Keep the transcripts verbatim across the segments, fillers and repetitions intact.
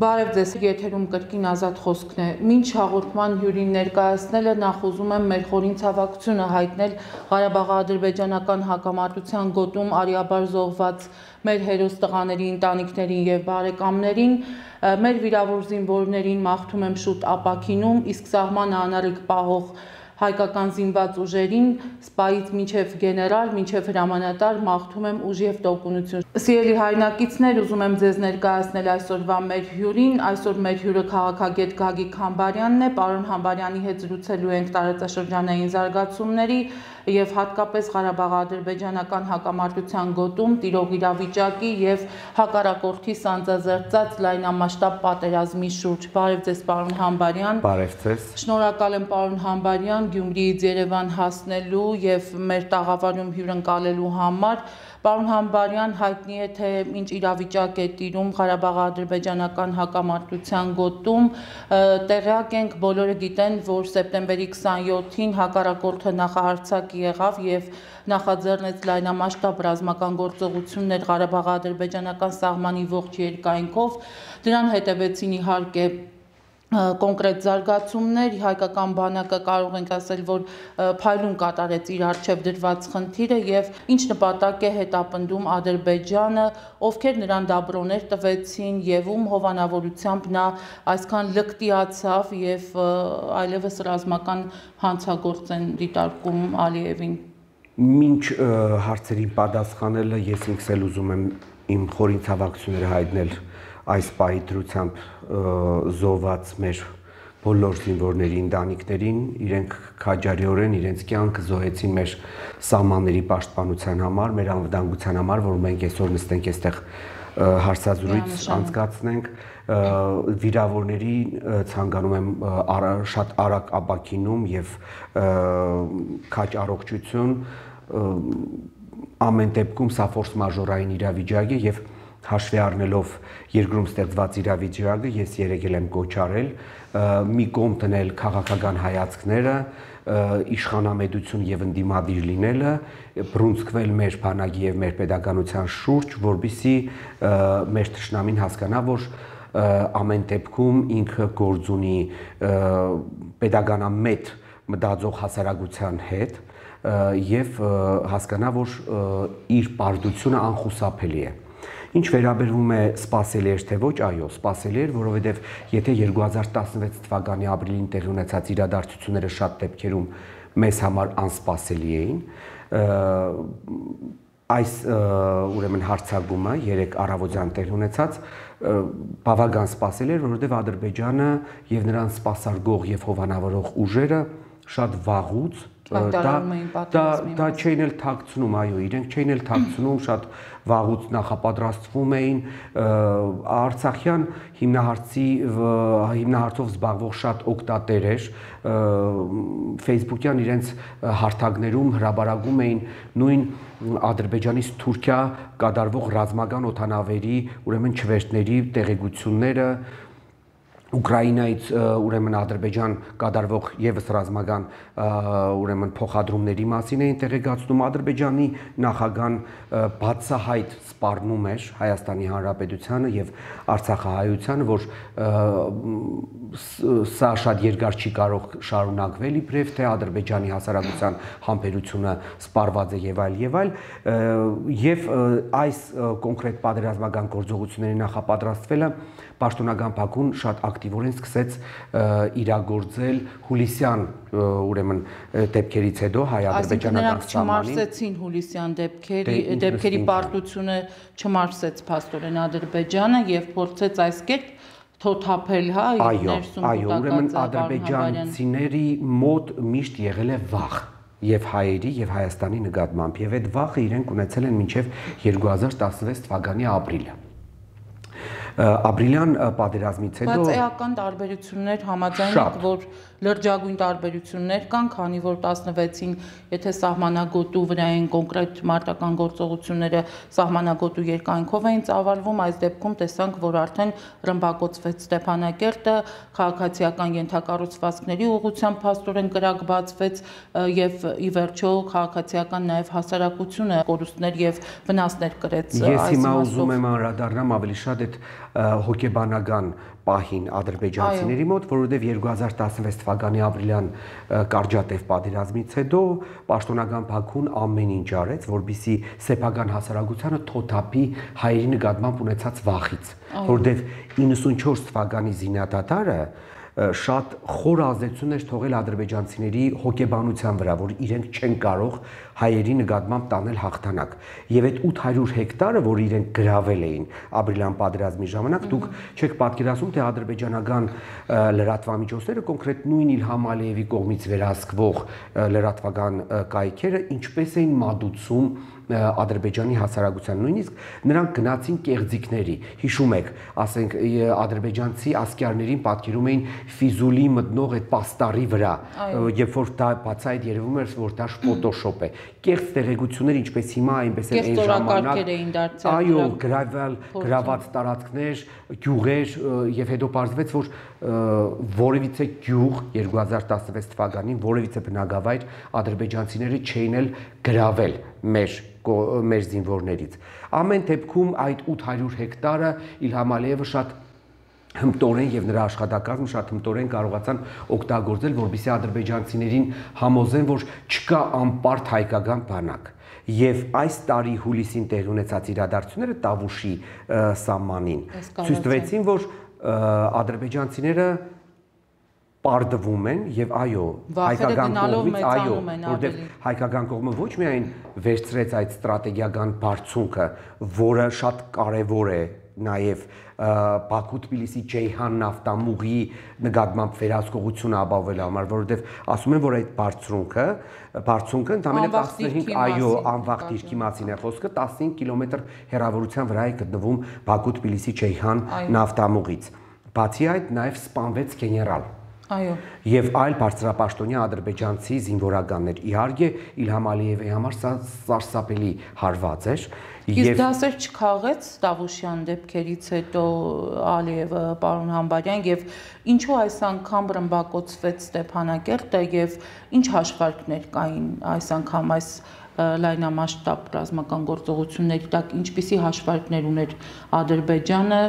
Բարև ձեզ, եթերում կրկին Ազատ խոսքն է։ Մինչ հաղորդման հյուրին ներկայացնելը նախ ուզում եմ մեր խորին ցավակցությունը հայտնել Ղարաբաղի-ադրբեջանական հակամարտության գոտում արիաբար զոհված մեր հերոս տղաների ընտանիքներին եւ բարեկամներին, մեր վիրավոր զինվորներին մաղթում եմ շուտ ապաքինում, իսկ սահմանը անառիկ պահող հայկական զինված ուժերին, սպայից մինչև գեներալ, մինչև հրամանատար մաղթում եմ ուժ եւ տոկունություն։ Սիրելի հայրենակիցներ, ուզում եմ ձեզ ներկայացնել այսօրվա մեր հյուրին, այսօր մեր հյուրը քաղաքագետ Գագիկ Համբարյանն է, պարոն Համբարյանի հետ զրուցելու ենք տարածաշրջանային զարգացումների եւ հատկապես Ղարաբաղի-ադրբեջանական հակամարտության գոտում տիրող իրավիճակի եւ հակառակորդի սանձազերծած լայնամասշտաբ պատերազմի շուրջ։ Բարև ձեզ, պարոն Համբարյան։ Բարև ձեզ։ Շնորհակալ եմ, պարոն Համբարյան, Գյումրիից Երևան հասնելու եւ մեր տաղավարում հյուրընկալելու համար։ Պարոն Համբարյան, հայտնի է, թե ինչ իրավիճակ է տիրում Ղարաբաղի-ադրբեջանական հակամարտության գոտում, տեղյակ ենք, բոլորը գիտեն, որ սեպտեմբերի քսանյոթին հակառակորդը նախահարձակ եղավ եւ նախաձեռնեց լայնամասշտաբ ռազմական գործողություններ Ղարաբաղի-ադրբեջանական սահմանի ողջ երկայնքով, դրան հետևեցին իհարկե կոնկրետ զարգացումներ, հայկական բանակը կարող ենք ասել, որ փայլուն կատարեց իր առջև դրված խնդիրը եւ ինչ նպատակ է հետապնդում Ադրբեջանը, ովքեր նրան դաբրոներ տվեցին եւ ում հովանավորությամբ նա այսքան լկտիացավ եւ այլևս ռազմական հանցագործ են դիտարկում Ալիևին։ Մինչ հարցերին պատասխանելը ես ինքս էլ ուզում եմ իմ խորին ցավակցությունները հայտնել այս պահի դրությամբ զոհված մեր բոլոր զինվորների ընտանիքներին, իրենք քաջարիորեն իրենց կյանքը զոհեցին մեր սահմանների պաշտպանության համար, մեր անվտանգության համար, որ մենք այսօր նստենք այստեղ հարցազրույց անցկացնենք, վիրավորների ցանկանում եմ շատ արագ ապաքինում եւ քաջ առողջություն, ամեն դեպքում սա ֆորս մաժորային իրավիճակ է եւ հաշվի առնելով երկրում ստեղծված իրավիճակը ես երեգել եմ կոչարել մի կողմ տնել քաղաքական հայացքները, իշխանամետություն եւ ընդդիմադիր լինելը, բռունցքվել մեր բանակի եւ մեր պետականության շուրջ, որբիսի մեր թշնամին հասկանա, որ ամեն դեպքում ինքը գործ ունի պետականամետ մտածող հասարակության հետ եւ հասկանա, որ իր պարտությունը անխուսափելի է։ Ինչ վերաբերվում է սպասելի էր թե ոչ, այո, սպասելի էր, որովհետև եթե երկու հազար տասնվեց թվականի ապրիլին տեղի ունեցած իրադարձությունները շատ դեպքերում մեզ համար անսպասելի էին, այս ուրեմն հարձակումը երեք առավոտյան տեղի ունեցած բավական սպասելի էր, որովհետև Ադրբեջանը եւ նրան սպասարկող եւ հովանավորող ուժերը շատ վաղուց դա չէին էլ թաքցնում, այո, իրենք չէին էլ թաքցնում, շատ վաղուց նախապատրաստվում էին, Արցախյան հիմնահարցի հիմնահարցով զբաղվող շատ օգտատեր էր, Facebook-յան իրենց հարթակներում հրաբարակում էին նույն Ադրբեջանից Թուրքիա կատարվող ռազմական օդանավերի, ուրեմն չվերթների տեղեկությունները, Ուկրաինայից ուրեմն Ադրբեջան կատարվող եւս ռազմական ուրեմն փոխադրումների մասին էին տեղեկացնում, Ադրբեջանի նախագահան բացահայտ սպառնում էր Հայաստանի Հանրապետությանը եւ Արցախահայությանը, որ սա շատ երկար չի կարող շարունակվել իբրև թե Ադրբեջանի հասարակության համբերությունը սպառված է եւ այլ եւ այլ եւ այս կոնկրետ պատերազմական գործողությունների նախապատրաստվելը պաշտոնական Բաքուն շատ ակտիվորեն սկսեց իրագործել հուլիսյան ուրեմն դեպքերից հետո հայ-ադրբեջանական սահմանին չմարսեցին հուլիսյան դեպքերի դեպքերի պարտությունը չմարսեց փաստորեն Ադրբեջանը եւ փորձեց այս կերպ թոթափել, հա, ներսում այո, ուրեմն ադրբեջանցիների մոտ միշտ եղել է վախ եւ հայերի եւ Հայաստանի նկատմամբ եւ այդ վախը իրենք ունեցել են մինչեւ երկու հազար տասնվեց թվականի ապրիլը ապրիլյան պատերազմից հետո բայց էական տարբերություններ համաձայն եք, որ լրջագույն տարբերություններ կան, քանի որ տասնվեցին, եթե սահմանագոտու վրա են կոնկրետ մարտական գործողությունները սահմանագոտու երկայնքով էին ծավալվում, այս դեպքում տեսանք, որ արդեն ռմբակոծվեց Ստեփանակերտը, քաղաքացիական ենթակառուցվածքների ուղղությամբ փաստորեն կրակ բացվեց եւ ի վերջո քաղաքացիական նաեւ հասարակությունը կորուստներ եւ վնասներ կրեց այս մասով։ Ես հիմա ուզում եմ անդրադառնամ ավելի շատ այդ հոգեբանական պահին ադրբեջանցիների մոտ, որովհետև երկու հազար տասնվեց թվականի ապրիլյան կարճատև պատերազմից հետո պաշտոնական Բաքուն ամեն ինչ արեց, որպեսզի սեփական հասարակությանը թոթափի հայերի նկատմամբ ունեցած վախից, որովհետև իննսունչորս թվականի զինադատարը շատ խոր ազդեցություն էր թողել ադրբեջանցիների հոգեբանության վրա, որ իրենք չեն կարող հայերի նկատմամբ տանել հաղթանակ։ Եվ այդ ութ հարյուր հեկտարը, որ իրենք գրավել էին ապրիլյան պատերազմի ժամանակ, դուք չեք պատկերացնում, թե ադրբեջանական լրատվամիջոցները, կոնկրետ նույն Իլհամ Ալիևի կողմից վերահսկվող լրատվական կայքերը ինչպես էին մատուցում Ադրբեջանի հասարակության, նույնիսկ նրանք գնացին կեղծիքների, հիշում եք, ասենք ադրբեջանցի ասկերներին պատկերում էին Ֆիզուլի մտնող այդ պաստառի վրա, երբ որ դա բացայտ երևում էր, որ դա ֆոտոշոպ է, կեղծ տեղեկություններ ինչպես հիմա, այնպես էլ այն ժամանակ, այո, գրավել, գրաված տարածքներ, գյուղեր, եւ հետո պարզվեց, որ որևիցե գյուղ երկու հազար տասնվեց թվականին որևիցե բնակավայր ադրբեջանցիները չէին էլ գրավել մեր մեր զինվորներից։ Ամեն դեպքում այդ ութ հարյուր հեկտարը Իլհամ Ալիևը շատ հմտորեն եւ նրա աշխատակազմը շատ հմտորեն կարողացան օգտագործել, որպեսզի ադրբեջանցիներին համոզեն, որ չկա անպարտ հայկական բանակ։ Եվ այս տարի հուլիսին տեղի ունեցած իրադարձությունները Տավուշի սահմանին ցույց տվեցին, որ ադրբեջանցիները պարտվում են եւ այո, հայկական կողմից այո, որտեղ հայկական կողմը ոչ միայն վերցրեց այդ ստրատեգիական բարձունքը, որը շատ կարեւոր է նաեւ Բաքու-Թբիլիսի Ջեյհան նավթամուղի նկատմամբ վերահսկողությունը ապահովելու համար, որովհետեւ ասում են, որ այդ բարձունքը, բարձունքը ընդամենը տասնհինգ այո, անվաղ դիրքի մասին է խոսքը, տասնհինգ կիլոմետր հեռավորության վրա է գտնվում Բաքու-Թբիլիսի Ջեյհան նավթամուղից։ Բացի այդ նաեւ սպանվեց գեներալ Այո։ Եվ այլ բարձրապաշտոնյա ադրբեջանցի զինվորականներ։ Իհարկե Իլհամ Ալիևի համար սա սարսափելի հարված էր։ Իսկ դասեր չքաղեց Տավուշյան դեպքերից հետո Ալիևը, պարոն Համբարյան, եւ ինչու այս անգամ ռմբակոծվեց Ստեփանակերտը եւ ինչ հաշվարկներ կային այս անգամ այս լայնամասշտաբ ռազմական գործողությունների տակ, ինչպիսի հաշվարկներ ուներ Ադրբեջանը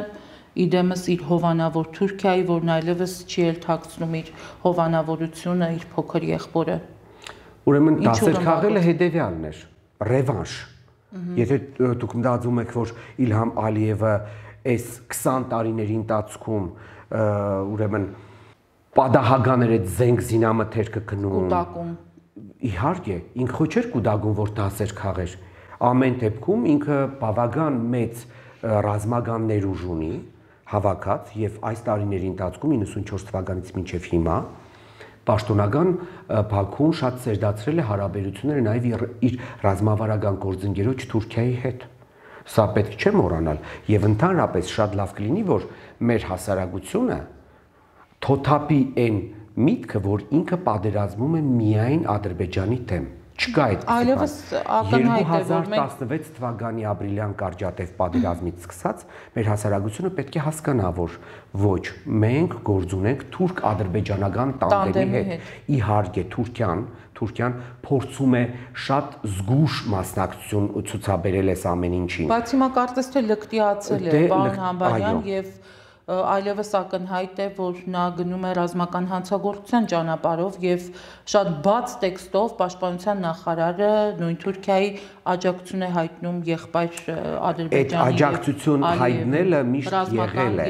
իդեմս իր հովանավոր Թուրքիայի, որն այլևս չի էլ թաքցնում իր հովանավորությունը, իր փոքր եղբորը։ Ուրեմն դասեր քաղելը հետևյալն էր, ռևանշ։ Եթե դուք մտածում եք, որ Իլհամ Ալիևը այս քսան տարիների ընթացքում ուրեմն պատահական էր այդ զենք զինամթերքը գնում։ Կուտակում։ Իհարկե, ինքը ոչ էր կուտակում, որ դասեր քաղեր։ Ամեն դեպքում ինքը բավական մեծ ռազմական ներուժ ունի հավաքած եւ այս տարիների ընթացքում իննսունչորս թվականից մինչեւ հիմա պաշտոնական Բաքուն շատ սերտացրել է հարաբերությունները նաեւ իր ռազմավարական գործընկերոջ Թուրքիայի հետ։ Սա պետք չէ մոռանալ եւ ընդհանրապես շատ լավ կլինի, որ մեր հասարակությունը թոթափի այն միտքը, որ ինքը պատերազմում է միայն Ադրբեջանի դեմ։ Չկա այդ այլևս ակնհայտ է, որ մենք երկու հազար տասնվեց թվականի ապրիլյան կարճատև պատերազմից սկսած մեր հասարակությունը պետք է հասկանա, որ ոչ, մենք գործ ունենք թուրք-ադրբեջանական տանդեմի հետ։ Իհարկե Թուրքիան, Թուրքիան փորձում է շատ զգուշ մասնակցություն ցուցաբերել այս ամեն ինչին։ Բայց հիմա կարծես թե լկտիացել է պարոն Համբարյան եւ այլևս ակնհայտ է, որ նա գնում է ռազմական հանցագործության ճանապարհով եւ շատ բաց տեքստով պաշտպանության նախարարը նույն Թուրքիայի աջակցություն է հայտնում եղբայր Ադրբեջանի։ Այդ աջակցություն հայտնելը միշտ եղել է։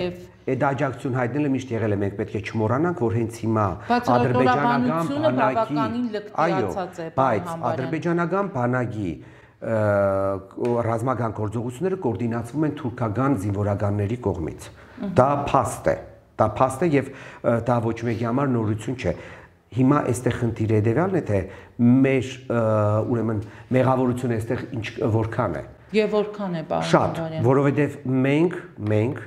Այդ աջակցություն հայտնելը միշտ եղել է, մենք պետք է չմոռանանք, որ հենց հիմա ադրբեջանական բանակի, այո, բայց ադրբեջանական բանակի ռազմական գործողությունները կոորդինացվում են թուրքական զինվորականների կողմից։ Դա փաստ է, դա փաստ է եւ դա ոչ մեկի համար նորություն չէ։ Հիմա այստեղ խնդիրը հետեւյալն է, թե մեր ուրեմն մեղավորությունը այստեղ ինչ որքան է։ Եվ որքան է, պարոն Շատ, որովհետեւ մենք, մենք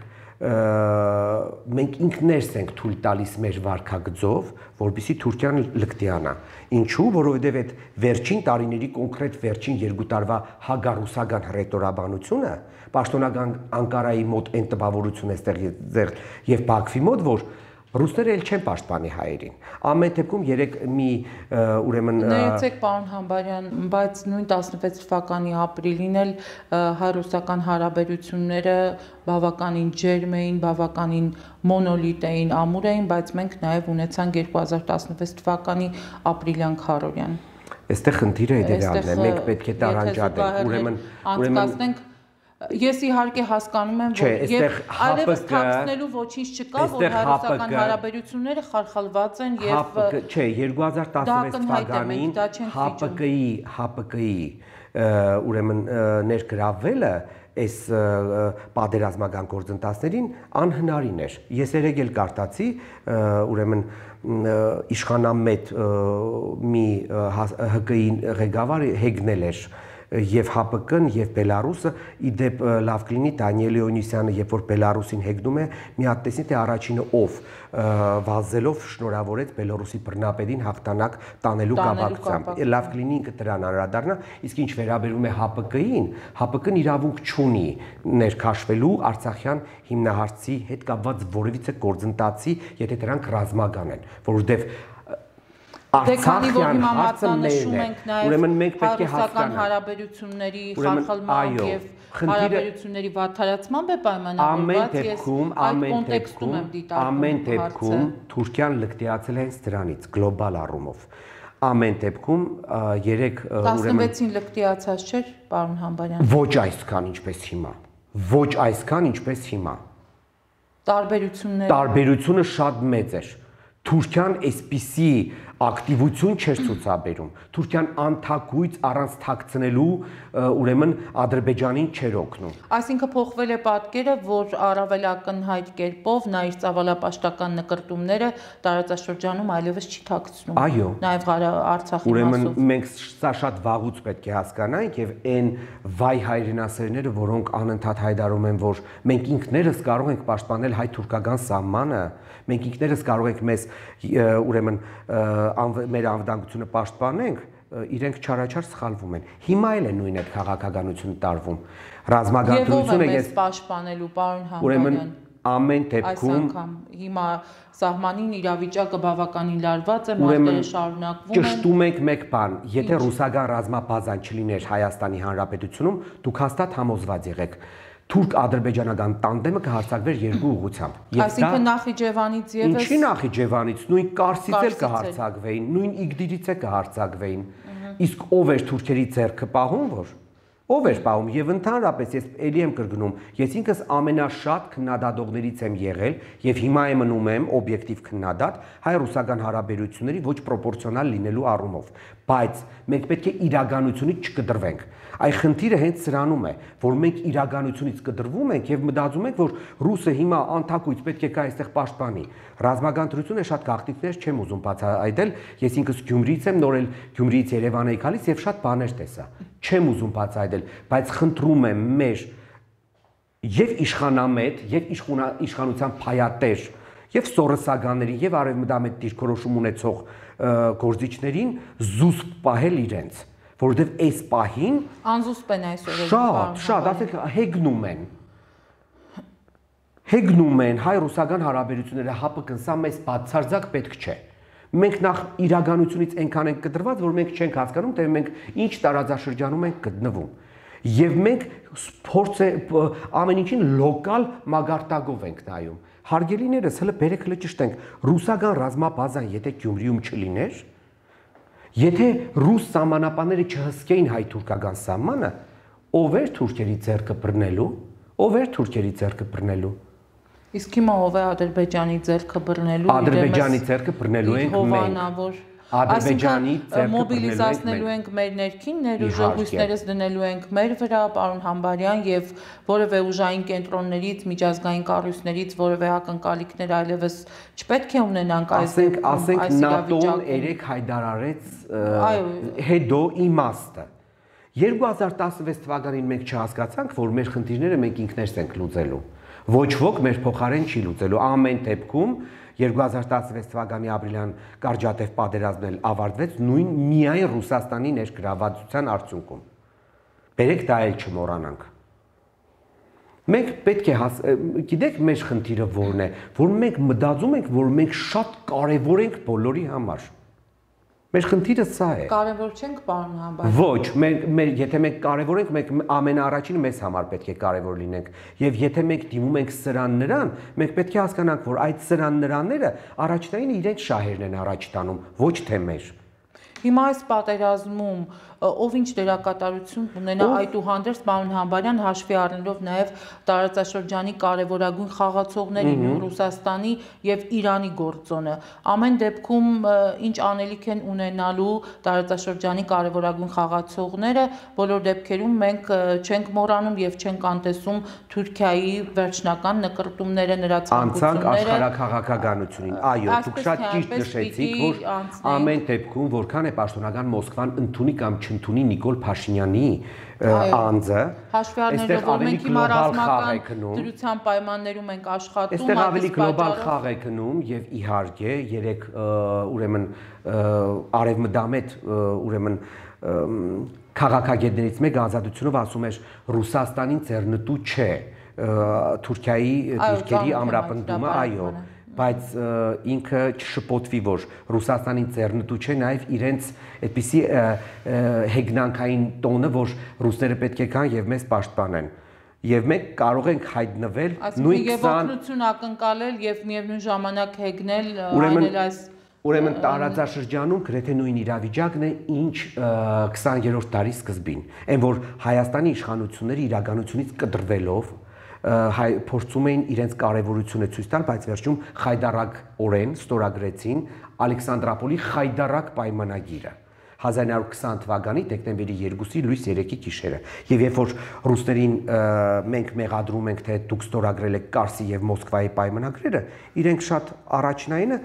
մենք ինքներս ենք թույլ տալիս մեր վարքագծով, որպեսզի Թուրքիան լկտիանա։ Ինչու՞, որովհետև այդ վերջին տարիների կոնկրետ վերջին երկու տարվա հագարուսական հռետորաբանությունը, պաշտոնական Անկարայի մոտ այն տպավորությունը այստեղ եւ Բաքվի մոտ, որ Ռուսները էլ չեն պաշտպանի հայերին։ Ամեն դեպքում երեք մի ուրեմն Ներեցեք պարոն Համբարյան, բայց նույն տասնվեց թվականի ապրիլին էլ հայ-ռուսական հարաբերությունները բավականին ջերմ էին, բավականին մոնոլիտ էին, ամուր էին, բայց մենք նաև ունեցանք երկու հազար տասնվեց թվականի ապրիլյան քարորյան։ Այստեղ խնդիրը էդերալն է, մենք պետք է տարանջատենք, ուրեմն ուրեմն Ես իհարկե հասկանում եմ, որ եւ այլևս թաքցնելու ոչինչ չկա, որ հայ-ռուսական հարաբերությունները խարխալված են եւ չէ, երկու հազար տասնվեց թվականին ՀԱՊԿ-ի ՀԱՊԿ-ի ուրեմն ներգրավվելը այս պատերազմական գործընթացներին անհնարին էր։ Ես երեք էլ կարտացի, ուրեմն իշխանամետ մի ՀԿ-ի ղեկավար հեգնել էր եւ ՀԱՊԿ-ն եւ Բելարուսը իդեպ լավ կլինի Դանիել Օնիսյանը երբ որ Բելարուսին հեգնում է մի հատ տեսնի թե առաջինը ով վազելով շնորհավորեց Բելարուսի բռնապետին հաղթանակ տանելու կապակցությամբ լավ կլինի ինքը դրան անդրադառնա իսկ ինչ վերաբերում է ՀԱՊԿ-ին ՀԱՊԿ-ն իրավունք չունի ներքաշվելու Արցախյան հիմնահարցի հետ կապված որևիցե գործընթացի եթե դրանք ռազմական են որովհետեւ Արցախյան հարցը նշում ենք նաև հայ-ռուսական հարաբերությունների խարխալման եւ հարաբերությունների վատթարացման է պայմանավորված ես այդ կոնտեքստում եմ դիտարկում ամեն դեպքում Թուրքիան լկտիացել է հենց դրանից գլոբալ առումով ամեն դեպքում երեք տասնվեցին լկտիացած չէր պարոն Համբարյան ոչ այսքան ինչպես հիմա ոչ այսքան ինչպես հիմա տարբերությունները տարբերությունը շատ մեծ էր Թուրքիան այսպիսի ակտիվություն չէր ցուցաբերում Թուրքիան անթակույց առանց թաքցնելու ուրեմն Ադրբեջանին չէր օգնում Այսինքն փոխվել է պատկերը որ առավել ակնհայտ կերպով նա իր ծավալապաշտական նկրտումները տարածաշրջանում այլևս չի թաքցնում Այո նաև Արցախի ուրեմն մենք սա շատ վաղուց պետք է հասկանանք եւ այն վայ հայրենասերները որոնք անընդհատ հայտարարում են որ մենք ինքներս կարող ենք պաշտպանել հայ-թուրքական սահմանը մենք ինքներս կարող ենք մեզ ուրեմն մեր անվտանգությունը պաշտպանենք, իրենք չարաչար սխալվում են։ Հիմա էլ է նույն այդ քաղաքականությունը տարվում։ Ռազմագործությունը ես պաշտպանելու պարոն Համբարյան։ Ուրեմն ամեն դեպքում հիմա սահմանին իրավիճակը բավականին լարված է, մարտերը շարունակվում են։ Ճշտում եք մեկ բան, եթե ռուսական ռազմաբազան չլիներ Հայաստանի Հանրապետությունում, դուք հաստատ համոզված եղեք թուրք-ադրբեջանական տանդեմը կհարցակվեր երկու ուղղությամբ։ Այսինքն Նախիջևանից եւս Ինչի Նախիջևանից, նույն Կարսից էլ կհարցակվեին, նույն Իգդիրից է կհարցակվեին։ Իսկ ով էր թուրքերի ձեռքը պահում, որ ով էր պահում եւ ընդհանրապես ես ելի եմ կրկնում, ես ինքս ամենաշատ քննադատողներից եմ եղել եւ հիմա եմ մնում եմ օբյեկտիվ քննադատ հայ-ռուսական հարաբերությունների ոչ պրոպորցիոնալ լինելու առումով, բայց մենք պետք է իրականությունից չկտրվենք։ Այ խնդիրը հենց սրանում է, որ մենք իրականությունից կտրվում ենք եւ մտածում ենք, որ ռուսը հիմա անթակույց պետք է կա այստեղ պաշտպանի։ Ռազմական դրությունը շատ գաղտնիքներ չեմ ուզում բացահայտել, ես ինքս Գյումրիից եմ, նոր էլ Գյումրիից Երևան էի գալիս եւ շատ բաներ տեսա։ Չեմ ուզում բացահայտել, բայց խնդրում եմ մեր եւ իշխանամետ, եւ իշխանության փայատեր, եւ սորոսականներին, եւ արևմտամետ դիրքորոշում ունեցող գործիչներին զուսպ պահել իրենց որովհետև այս պահին անզուսպ են այսօր շատ, շատ, ասեք հեգնում են հեգնում են հայ-ռուսական հարաբերությունները ՀԱՊԿ-ն սա մեզ բացարձակ պետք չէ մենք նախ իրականությունից այնքան ենք կտրված որ մենք չենք հասկանում թե մենք ինչ տարածաշրջանում ենք գտնվում եւ մենք փորձ է ամեն ինչին լոկալ մագարտակով ենք նայում հարգելիներս հələ բերեք հələ ճշտենք ռուսական ռազմաբազան եթե Գյումրիում չլիներ Եթե ռուս սահմանապանները չհսկեին հայ-թուրքական սահմանը, ով էր թուրքերի ձեռքը բռնելու, ով էր թուրքերի ձեռքը բռնելու։ Իսկ հիմա ով է Ադրբեջանի ձեռքը բռնելու։ Ադրբեջանի ձեռքը բռնելու ենք մենք։ Ադրբեջանի ձեռքը մոբիլիզացնելու ենք մեր ներքին ներուժողույցներս դնելու ենք մեր վրա, պարոն Համբարյան, եւ որևէ ուժային կենտրոններից, միջազգային կառույցներից որևէ ակնկալիքներ այլևս չպետք է ունենանք այս ասենք ՆԱՏՕ-ն երեք հայտարարեց հետո իմաստը երկու հազար տասնվեց թվականին մենք չհասկացանք, որ մեր խնդիրները մենք ինքներս ենք լուծելու։ Ոչ ոք մեր փոխարեն չի լուծելու։ Ամեն դեպքում երկու հազար տասնվեց թվականի ապրիլյան կարճատև պատերազմն էլ ավարտվեց նույն միայն Ռուսաստանի ներգրավվածության արդյունքում։ Բերեք դա էլ չմոռանանք։ Մենք պետք է գիտեք մեր խնդիրը որն է, որ մենք մտածում ենք, որ մենք շատ կարևոր ենք բոլորի համար։ Մեր խնդիրը սա է։ Կարևոր չենք, պարոն Համբարյան։ Ոչ, մենք եթե մենք կարևոր ենք, մենք ամենաառաջինը մեզ համար պետք է կարևոր լինենք։ Եվ եթե մենք դիմում ենք սրան նրան, մենք պետք է հասկանանք, որ այդ սրան նրաները առաջնային իրենց շահերն են առաջ տանում, ոչ թե մեր։ Հիմա այս պատերազմում ով ինչ դերակատարություն ունենա այդուհանդերձ պարոն Համբարյան հաշվի առնելով նաև տարածաշրջանի կարևորագույն խաղացողների Ռուսաստանի եւ Իրանի գործոնը ամեն դեպքում ինչ անելիք են ունենալու տարածաշրջանի կարևորագույն խաղացողները բոլոր դեպքերում մենք չենք մոռանում եւ չենք անտեսում Թուրքիայի վերջնական նկարտումները նրա ցանկությունները աշխարհաքաղաքականությունին այո դուք շատ ճիշտ նշեցիք որ ամեն դեպքում որքան է պաշտոնական Մոսկվան ընդունի կամ ընդունի Նիկոլ Փաշինյանի անձը հաշվի առնելով որ մենք հիմա ռազմական դրության պայմաններում ենք աշխատում այստեղ ավելի գլոբալ խաղ է գնում եւ իհարկե երեք ուրեմն արևմտամետ ուրեմն քաղաքագետներից մեկը ազատությունով ասում էր Ռուսաստանին ձեռնտու չէ Թուրքիայի դիրքերի ամրապնդումը այո բայց ինքը չշփոթվի որ Ռուսաստանին ձեռնտու չէ նաև իրենց այդպիսի հեգնանքային տոնը որ ռուսները պետք է գան եւ մեզ պաշտպանեն եւ մենք կարող ենք հայտնվել նույն օգնություն ակնկալել եւ միևնույն ժամանակ հեգնել այնել այս ուրեմն տարածաշրջանում գրեթե նույն իրավիճակն է ինչ քսաներորդ դարի սկզբին այն որ Հայաստանի իշխանությունները իրականությունից կտրվելով հայ փորձում էին իրենց կարևորությունը ցույց տալ, բայց վերջում խայդարակ օրեն ստորագրեցին Ալեքսանդրապոլի խայդարակ պայմանագիրը հազար իննսուն քսան թվականի դեկտեմբերի երկուսի լույս երեքի գիշերը եւ երբ որ ռուսներին մենք մեղադրում ենք թե դուք ստորագրել եք Կարսի եւ Մոսկվայի պայմանագրերը իրենք շատ առաջնայինը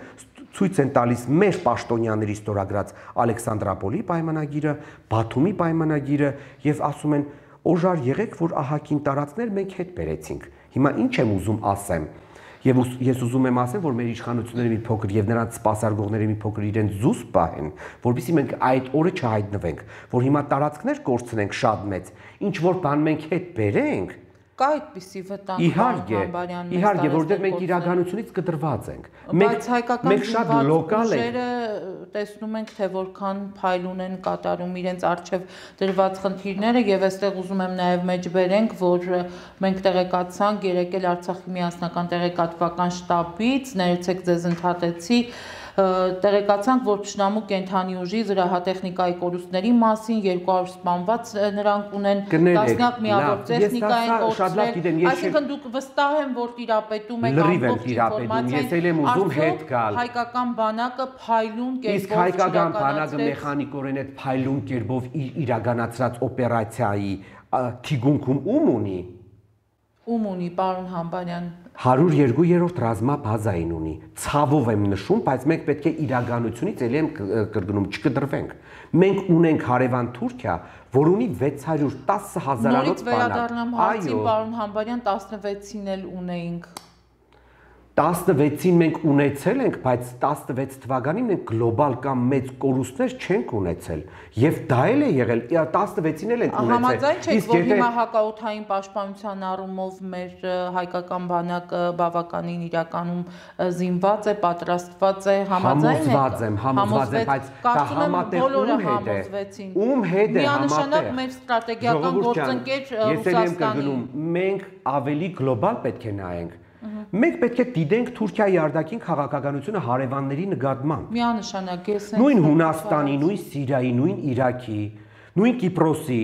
ցույց են տալիս մեր պաշտոնյաների ստորագրած Ալեքսանդրապոլի պայմանագիրը Բաթումի պայմանագիրը եւ ասում են Օժար եղեք, որ ահագին տարածքներ մենք հետ բերեցինք։ Հիմա ինչ եմ ուզում ասեմ։ Եվ ես ուզում եմ ասեմ, որ մեր իշխանությունները մի փոքր եւ նրանց սպասարկողները մի փոքր իրենց զուս պահեն, որովհետեւ մենք այդ օրը չհայտնվենք, որ հիմա տարածքներ կորցնենք շատ մեծ, ինչ որ բան մենք հետ բերենք։ Կա այդպիսի վտանգ Իհարկե, իհարկե, որտեղ մենք իրականությունից կտրված ենք։ Բայց հայկական շատ լոկալ է տեսնում ենք թե որքան փայլուն են կատարում իրենց արժև դրված խնդիրները եւ այստեղ ուզում եմ նաեւ մեջ բերենք որ մենք տեղեկացանք երեկ էլ Արցախի միասնական տեղեկատվական շտաբից ներեցեք ձեզ ընդհատեցի տեղեկացանք, որ Փշնամու կենթանի ուժի զրահատեխնիկայի կորուստների մասին երկու հարյուր սպանված նրանք ունեն տասնյակ միավոր տեխնիկա են կորցրել, այսինքն դուք վստահ եմ, որ տիրապետում եք ամբողջ ինֆորմացիան, հայկական բանակը փայլուն կերպով իսկ հայկական բանակը մեխանիկորեն այդ փայլուն կերպով իրականացրած օպերացիայի թիգունքում ում ունի Ում ունի, պարոն Համբարյան հարյուր երկու-երորդ ռազմաբազային ունի, ցավով եմ նշում, բայց մենք պետք է իրականությունից ելի եմ կրկնում չկտրվենք։ Մենք ունենք հարևան Թուրքիա, որ ունի վեց հարյուր տասը հազարանոց բանակ։ Նորից վերադառնամ հարցին, պարոն Համբարյան, տասնվեցին էլ ունեինք։ տասնվեցին մենք ունեցել ենք, բայց տասնվեց թվականին մենք գլոբալ կամ մեծ կորուստներ չենք ունեցել։ Եվ դա էլ է եղել, տասնվեցին էլ ենք ունեցել։ Համաձայն չեք, որ հիմա հակաօդային պաշտպանության առումով մեր հայկական բանակը բավականին իրականում զինված է, պատրաստված է, համաձայն եք։ Համոզված եմ, համոզված եմ, բայց դա համատեղ ում հետ է։ Ում հետ է համատեղ։ Միանշանակ մեր ստրատեգիական գործընկեր Ռուսաստանի։ Մենք ավելի գլոբալ պետք է նայենք։ Մենք պետք է դիտենք Թուրքիայի արտաքին քաղաքականությունը հարևանների նկատմամբ։ Միանշանակ ես նույն Հունաստանի, նույն Սիրիայի, նույն Իրաքի, նույն Կիպրոսի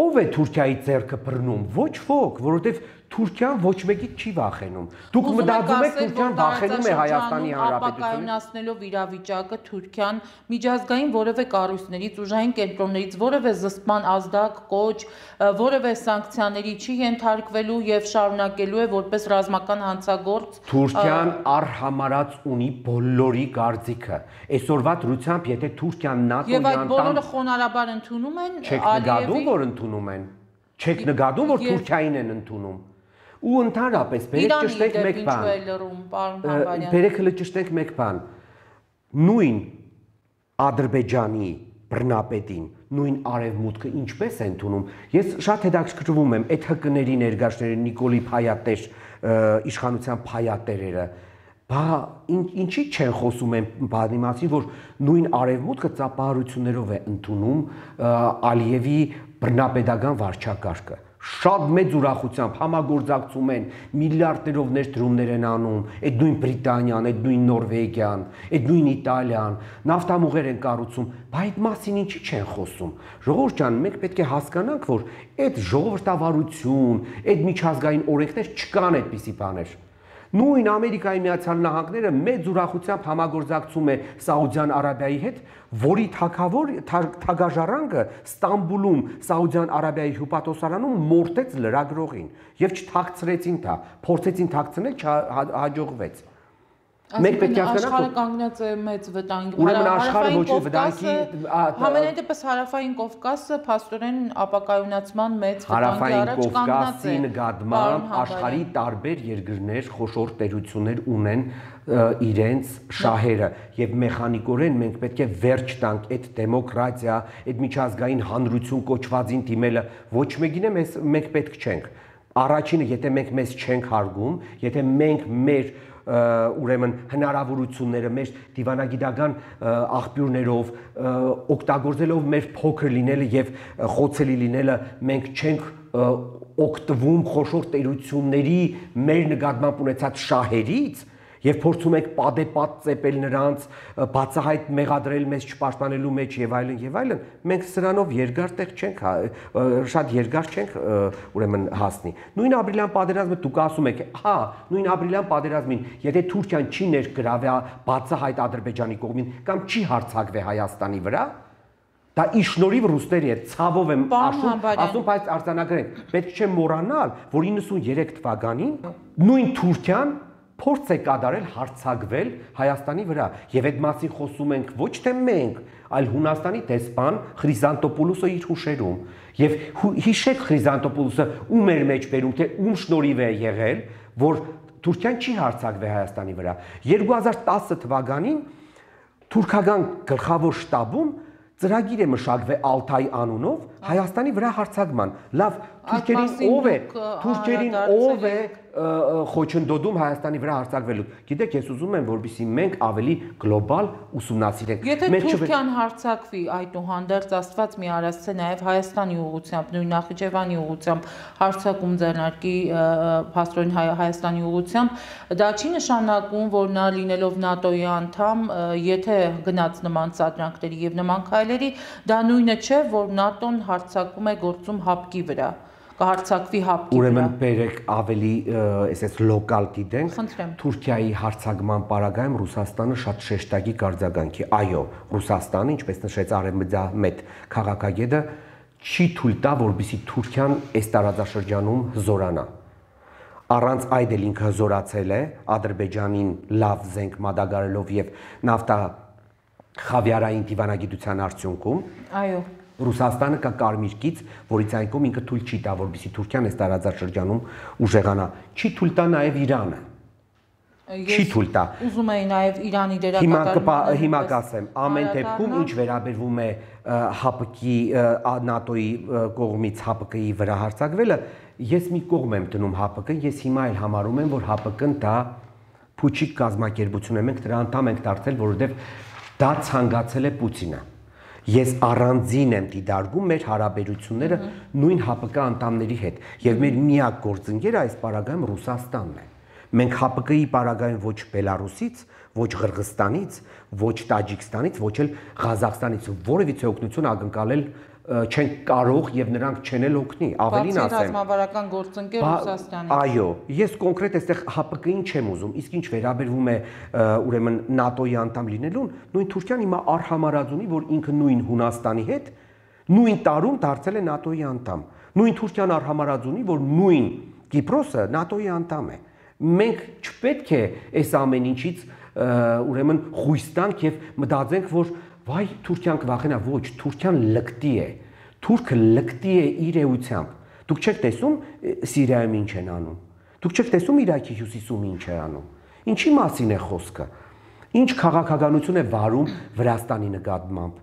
ով է Թուրքիայի ձեռքը բռնում։ Ոչ ոք, որովհետև Թուրքիան ոչ մեկից չի վախենում։ Դուք մտածում եք Թուրքիան վախենում է Հայաստանի Հանրապետությունից։ Ապակայունացնելով իրավիճակը Թուրքիան միջազգային որևէ կառույցներից, ուժային կենտրոններից որևէ զսպման ազդակ, կոչ, որևէ սանկցիաների չի ենթարկվելու եւ շարունակելու է որպես ռազմական հանցագործ։ Թուրքիան առհամարած ունի բոլորի կարծիքը։ Այսօրվա դրությամբ եթե Թուրքիան ՆԱՏՕ-ի եւ այդ բոլորը խոնարհաբար ընդունում են Ալիևի, որ ընդունում են։ Չեք նկատում, որ Թուրքիային են ընդունում։ Ու ընդհանրապես բերեք ճշտենք մեկ բան։ Բերեք հələ ճշտենք մեկ բան։ Նույն Ադրբեջանի բռնապետին նույն արևմուտքը ինչպես է ընդունում։ Ես շատ հետաքրքրվում եմ այդ հկների ներկայացների Նիկոլի Փայատեր իշխանության փայատերերը, բա ինչի չեն խոսում են բանի մասին, որ նույն արևմուտքը ծափահարություններով է ընդունում Ալիևի բռնապետական վարչակարգը։ Շատ մեծ ուրախությամբ համագործակցում են, միլիարդներով ներդրումներ են անում, այդ նույն Բրիտանիան, այդ նույն Նորվեգիան, այդ նույն Իտալիան, նավթամուղեր են կառուցում, բայց այդ մասին ինչի չեն խոսում։ Ժողովուրդ ջան, մենք պետք է հասկանանք, որ այդ ժողովրդավարություն, այդ միջազգային օրենքներ չկան այդպիսի բաներ։ Նույն Ամերիկայի Միացյալ Նահանգները մեծ ուրախությամբ համագործակցում է Սաուդյան Արաբիայի հետ, որի թագավոր թագաժառանգը Ստամբուլում Սաուդյան Արաբիայի հյուպատոսարանում մորթեց լրագրողին եւ չթաքցրեցին դա, փորձեցին թաքցնել, չհաջողվեց։ Մենք պետք է հասկանանք, աշխարհը կանգնած է մեծ վտանգի։ Ուրեմն աշխարհը ոչ վտանգի, Համենայն դեպս Հարավային Կովկասը փաստորեն ապակայունացման մեծ վտանգի առաջ կանգնած է։ Հարավային Կովկասի նկատմամբ աշխարհի տարբեր երկրներ խոշոր տերություններ ունեն իրենց շահերը եւ մեխանիկորեն մենք պետք է վերջ տանք այդ դեմոկրատիա, այդ միջազգային հանրություն կոչվածին դիմելը ոչ մեկին է մենք պետք չենք։ Առաջինը, եթե մենք մեզ չենք հարգում, եթե մենք մեր ուրեմն հնարավորությունները մեր դիվանագիտական աղբյուրներով օգտագործելով մեր փոքր լինելը եւ խոցելի լինելը մենք չենք օգտվում խոշոր տերությունների մեր նկատմամբ ունեցած շահերից եւ փորձում ենք պատեպատ ծեպել նրանց, բացահայտ մեղադրել մեզ չպաշտպանելու մեջ եւ այլն եւ այլն, մենք սրանով երկար տեղ չենք, շատ երկար չենք ուրեմն հասնի։ Նույն ապրիլյան պատերազմը դուք ասում եք, հա, նույն ապրիլյան պատերազմին, եթե Թուրքիան չի ներգրավվի բացահայտ Ադրբեջանի կողմին կամ չի հարձակվի Հայաստանի վրա, դա իշնորհիվ ռուսների հետ ցավով եմ ասում, ասում, բայց արձանագրենք, պետք չէ մոռանալ, որ իննսուններեք թվականին նույն Թուրքիան փորձ է կատարել հարձակվել Հայաստանի վրա եւ այդ մասին խոսում ենք ոչ թե մենք, այլ Հունաստանի դեսպան Խրիզանտոպոլոսը իր հուշերում եւ հիշեք Խրիզանտոպոլոսը ում էր մեջ բերում թե ում շնորհիվ է եղել, որ Թուրքիան չի հարձակվել Հայաստանի վրա։ երկու հազար տասը թվականին թուրքական գլխավոր շտաբում ծրագիր է մշակվել Ալթայ անունով Հայաստանի վրա հարձակման։ Լավ, թուրքերին ով է, թուրքերին ով է խոչընդոտում Հայաստանի վրա հարձակվելու։ Գիտեք, ես ուզում եմ, որպեսզի մենք ավելի գլոբալ ուսումնասիրենք։ Եթե Թուրքիան հարձակվի, այդուհանդերձ Աստված մի արասցե նաև Հայաստանի ուղղությամբ, նույն Նախիջևանի ուղղությամբ հարձակում ձեռնարկի փաստորեն Հայաստանի ուղղությամբ, դա չի նշանակում, որ նա լինելով ՆԱՏՕ-ի անդամ, եթե գնաց նման սադրանքների եւ նման քայլերի, դա նույնը չէ, որ ՆԱՏՕ-ն հարձակում է գործում հապկի վրա։ Կհարձակվի հապկի վրա։ Ուրեմն բերեք ավելի այսպես լոկալ դիտենք, Թուրքիայի հարձակման պարագայում Ռուսաստանը շատ շեշտակի կարձագանքի։ Այո, Ռուսաստանը, ինչպես նշեց արևմտամետ քաղաքագետը, չի թույլ տա, որպեսզի Թուրքիան այս տարածաշրջանում զորանա։ Առանց այդ էլ ինքը զորացել է Ադրբեջանին լավ զենք մատակարարելով եւ նավթա խավիարային դիվանագիտության արդյունքում։ Այո։ Ռուսաստանը կա կարմիր գիծ, որից այն կողմ ինքը թույլ չի տա, որպեսզի Թուրքիան այս տարածաշրջանում ուժեղանա։ Չի թույլ տա նաև Իրանը։ Չի թույլ տա։ Ուզում էի նաև Իրանի դերակատարությունը։ Հիմա կասեմ, ամեն դեպքում ինչ վերաբերվում է ՀԱՊԿ-ի ՆԱՏՕ-ի կողմից ՀԱՊԿ-ի վրա հարձակվելը, ես մի կողմ եմ դնում ՀԱՊԿ-ն, ես հիմա էլ համարում եմ, որ ՀԱՊԿ-ն դա փուչիկ կազմակերպություն է, մենք դրա անդամ ենք դարձել, որովհետև դա ցանկացել է Պուտինը։ Ես առանձին եմ դիտարկում մեր հարաբերությունները նույն ՀԱՊԿ անդամների հետ եւ մեր միակ գործընկերը այս պարագայում Ռուսաստանն է։ Մենք ՀԱՊԿ-ի պարագայում ոչ Բելարուսից, ոչ Ղրղստանից, ոչ Տաջիկստանից, ոչ էլ Ղազախստանից որևիցե օգնություն ակնկալել չենք կարող եւ նրանք չեն էլ օգնի, ավելին ասեմ։ Բացի ռազմավարական գործընկեր Ռուսաստանից։ Այո, ես կոնկրետ այստեղ ՀԱՊԿ-ին չեմ ուզում, իսկ ինչ վերաբերվում է ուրեմն ՆԱՏՕ-ի անդամ լինելուն, նույն Թուրքիան հիմա արհամարած ունի, որ ինքը նույն Հունաստանի հետ նույն տարում դարձել է ՆԱՏՕ-ի անդամ։ Նույն Թուրքիան արհամարած ունի, որ նույն Կիպրոսը ՆԱՏՕ-ի անդամ է։ Մենք չպետք է այս ամեն ինչից ուրեմն խույս տանք եւ մտածենք, որ վայ Թուրքիան կվախենա, ոչ, Թուրքիան լկտի է։ Թուրքը լկտի է իր էությամբ։ Դուք չեք տեսում Սիրիայում ինչ են անում։ Դուք չեք տեսում Իրաքի հյուսիսում ինչ է անում։ Ինչի մասին է խոսքը։ Ինչ քաղաքականություն է վարում Վրաստանի նկատմամբ։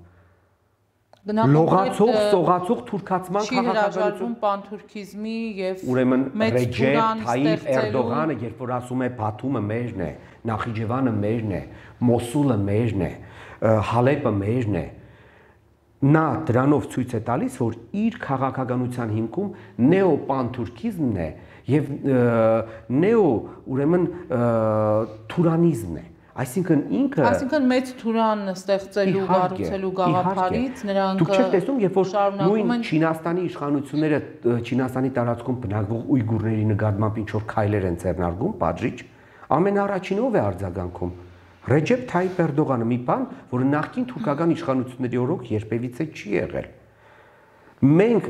լողացող, սողացող թուրքացման քաղաքականություն չի հրաժարվում պանթուրքիզմի եւ ուրեմն Ռեջեփ Թայիփ Էրդողանը, երբ որ ասում է Բաթումը մերն է, Նախիջևանը մերն է, Մոսուլը մերն է, Հալեպը մերն է, նա դրանով ցույց է տալիս, որ իր քաղաքականության հիմքում նեոպանթուրքիզմն է եւ նեո ուրեմն թուրանիզմն է։ Այսինքն ինքը Այսինքն մեծ թուրան ստեղծելու, կառուցելու գաղափարից նրանք դուք չեք տեսնում, երբ որ նույն Չինաստանի իշխանությունները Չինաստանի տարածքում բնակվող ույգուրների նկատմամբ ինչ որ քայլեր են ձեռնարկում, պատժիչ, ամենաառաջին ով է արձագանքում։ Ռեջեփ Թայիփ Էրդողանը, մի բան, որը նախկին թուրքական իշխանությունների օրոք երբևիցե չի եղել։ Մենք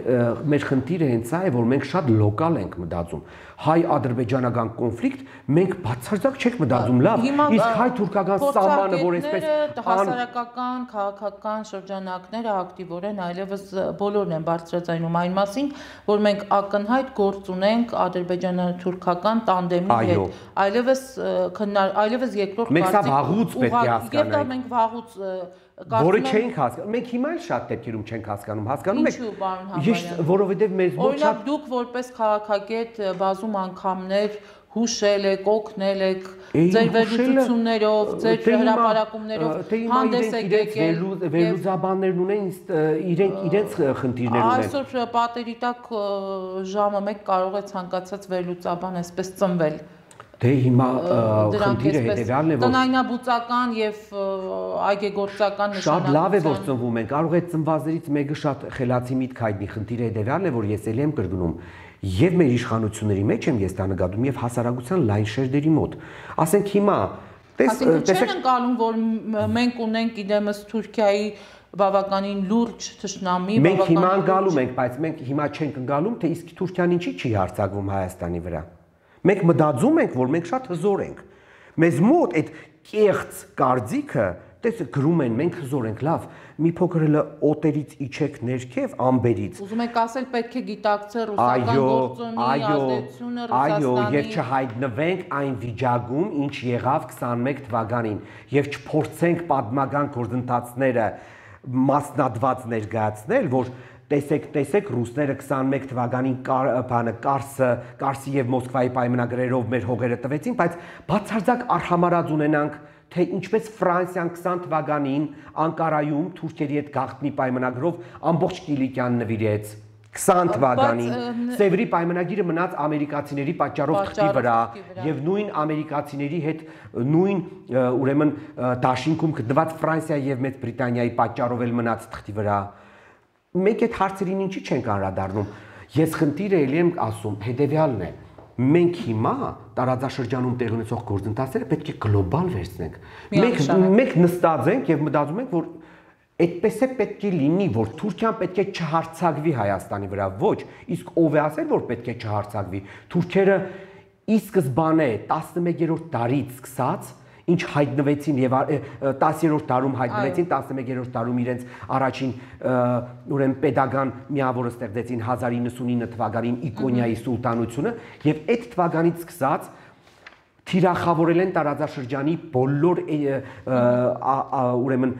մեր խնդիրը հենց այն է, որ մենք շատ լոկալ ենք մտածում։ Հայ-ադրբեջանական կոնֆլիկտ, մենք բացարձակ չենք մտածում, լավ, իսկ հայ-թուրքական սահմանը, որ այսպես հասարակական, քաղաքական շրջանակները ակտիվորեն այլևս բոլորն են բարձրաձայնում այն մասին, որ մենք ակնհայտ գործ ունենք ադրբեջանա-թուրքական տանդեմի հետ։ Այլևս այլևս երկրորդ մենք սա վաղուց պետք է հասկանանք։ Եվ դա մենք վաղուց որը չենք հասկանում։ Մենք հիմա էլ շատ դեպքերում չենք հասկանում։ Հասկանում եք։ Ինչու, պարոն Համբարյան։ Որովհետև մեզ ոչ շատ դուք որպես քաղաքագետ բազում անգամներ հուշել եք, օգնել եք ձեր վերլուծություններով, ձեր հրապարակումներով հանդես եք եկել։ Վերլուծաբաններն ունեն իրենք իրենց խնդիրներ ունեն։ Այսօր պատերի տակ ժամը մեկ կարող է ցանկացած վերլուծաբան այսպես ծնվել։ Դե հիմա խնդիրը հետևյալն է, որ տնայնաբուծական եւ այգեգործական նշանակություն։ Շատ լավ է, որ ծնվում են, կարող է ծնվածներից մեկը շատ խելացի միտք հայտնի, խնդիրը հետևյալն է, որ ես ելի եմ կրկնում, եւ մեր իշխանությունների մեջ եմ ես դա նկատում եւ հասարակության լայն շերտերի մոտ։ Ասենք հիմա, տեսեք, չեն ընկալում, որ մենք ունենք իդեմս Թուրքիայի բավականին լուրջ թշնամի, մենք հիմա ընկալում ենք, բայց մենք հիմա չենք ընկալում, թե իսկ Թուրքիան ինչի չի հարձակվում Հայաստանի վրա։ Մենք մտածում ենք, որ մենք շատ հզոր ենք։ Մեզ մոտ այդ կեղծ կարծիքը, տեսեք, գրում են, մենք հզոր ենք, լավ, մի փոքր էլ օտերից իջեք ներքև, ամբերից։ Ուզում եք ասել, պետք է գիտակցել ռուսական գործոնի ազդեցությունը Ռուսաստանի։ Այո, եւ չհայտնվենք այն վիճակում, ինչ եղավ քսաներկու թվականին, եւ չփորձենք պատմական գործընթացները մասնատված ներկայացնել, որ Տեսեք, տեսեք, ռուսները քսաներկու թվականին բանը Կարսը, Կարսի եւ Մոսկվայի պայմանագրերով մեր հողերը տվեցին, բայց բացարձակ արհամարած ունենանք, թե ինչպես Ֆրանսիան քսան թվականին Անկարայում Թուրքերի հետ գաղտնի պայմանագրով ամբողջ Կիլիկյան նվիրեց։ քսան թվականին Սևրի պայմանագիրը մնաց ամերիկացիների պատճառով թղթի վրա եւ նույն ամերիկացիների հետ նույն ուրեմն դաշինքում գտնված Ֆրանսիայի եւ Մեծ Բրիտանիայի պատճառով էլ մնաց թղթի վրա։ Մենք այդ հարցերին ինչի չենք անդրադառնում։ Ես խնդիրը ելի եմ ասում, հետեւյալն է։ Մենք հիմա տարածաշրջանում տեղի ունեցող գործընթացները պետք է գլոբալ վերցնենք։ Մենք մենք նստած ենք եւ մտածում ենք, որ այդպես է պետք է լինի, որ Թուրքիան պետք է չհարցակվի Հայաստանի վրա։ Ոչ, իսկ ով է ասել, որ պետք է չհարցակվի։ Թուրքերը ի սկզբանե տասնմեկերորդ դարից սկսած ինչ հայտնվեցին եւ տասներորդ դարում հայտնվեցին, տասնմեկերորդ դարում իրենց առաջին ուրեմն pedagogan միավորը ստեղծեցին հազար իննսունինը թվականին Իկոնիայի սուլտանությունը եւ այդ թվականից սկսած թիրախավորել են տարածաշրջանի բոլոր ուրեմն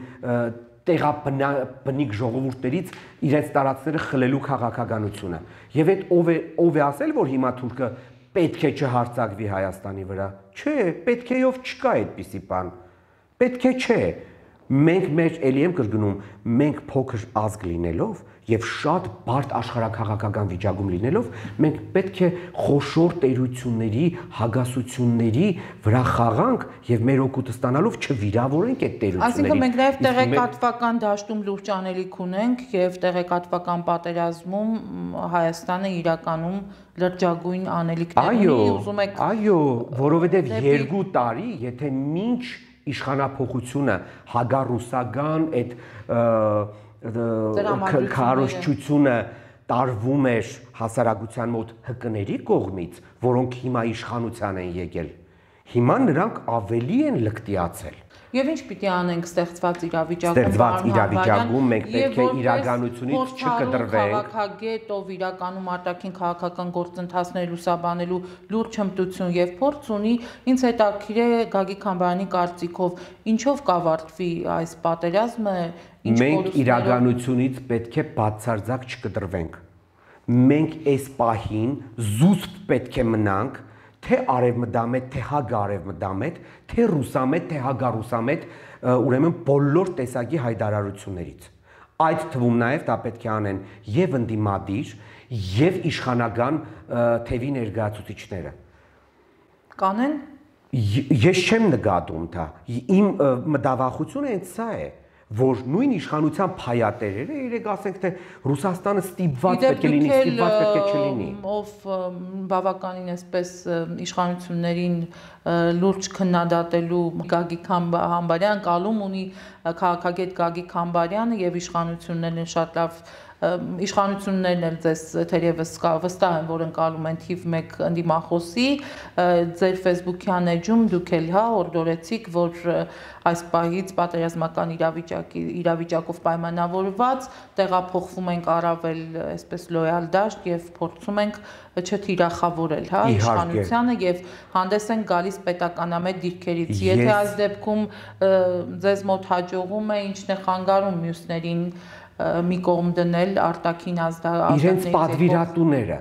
տեղաբնիկ ժողովուրդներից իրենց տարածքները խլելու քաղաքականությունը եւ այդ ով է ով է ասել, որ հիմա թուրքը պետք է չհարցակվի Հայաստանի վրա։ Չէ, պետք է ով չկա այդպիսի բան։ Պետք է չէ։ Մենք մեր էլի եմ կրկնում, մենք փոքր ազգ լինելով եւ շատ բարդ աշխարհակաղակական վիճակում լինելով, մենք պետք է խոշոր տերությունների, հագասությունների վրա խաղանք եւ մեր օգուտը ստանալով չվիրավորենք այդ տերություններին։ Այսինքն մենք նաեւ տեղեկատվական դաշտում լուրջ անելիք ունենք եւ տեղեկատվական պատերազմում Հայաստանը իրականում լրջագույն անելիքներ ունի, ուզում եք։ Այո, որովհետեւ երկու տարի, եթե մինչ իշխանափոխությունը հագառուսական այդ քարոզչությունը տարվում էր հասարակության մոտ հկների կողմից, որոնք հիմա իշխանության են եկել։ Հիմա նրանք ավելի են լկտիացել։ Եվ ինչ պիտի անենք ստեղծված իրավիճակում, ստեղծված իրավիճակում մենք պետք է իրականությունից չկտրվենք։ Քաղաքագետ, ով իրականում արտաքին քաղաքական գործընթացներ լուսաբանելու լուրջ հմտություն եւ փորձ ունի, ինձ հետաքրքիր է Գագիկ Խամբարյանի կարծիքով, ինչով կավարտվի այս պատերազմը, ինչ մենք իրականությունից պետք է բացարձակ չկտրվենք։ Մենք այս պահին զուսպ պետք է մնանք, թե արևմտամետ, թե հագարևմտամետ, թե ռուսամետ, թե հագարուսամետ, ուրեմն բոլոր տեսակի հայտարարություններից։ Այդ թվում նաև դա պետք է անեն եւ ընդդիմադիր, եւ իշխանական թևի ներկայացուցիչները։ Կանեն։ Ես չեմ նկատում դա։ Իմ մտավախությունը հենց սա է, որ նույն իշխանության փայատերերը, երեք ասենք թե Ռուսաստանը ստիպված պետք է լինի, ստիպված պետք է չլինի։ Ով բավականին այսպես իշխանություններին լուրջ քննադատելու Գագիկ Խամբարյան կալում ունի քաղաքագետ Գագիկ Խամբարյանը եւ իշխանություններն շատ լավ իշխանություններն էլ ձեզ թերևս վստահ են, որ ընկալում են թիվ մեկ ընդդիմախոսի, ձեր Facebook-յան էջում դուք էլ հա օրդորեցիք, որ այս պահից պատերազմական իրավիճակի իրավիճակով պայմանավորված տեղափոխվում ենք առավել այսպես լոյալ դաշտ եւ փորձում ենք չթիրախավորել, հա, իշխանությանը եւ հանդես են գալիս պետականամետ դիրքերից։ Եթե այս դեպքում ձեզ մոտ հաջողում է, ինչն է խանգարում մյուսներին մի կողմ դնել արտաքին ազդեցությունների իրենց պատվիրատուները։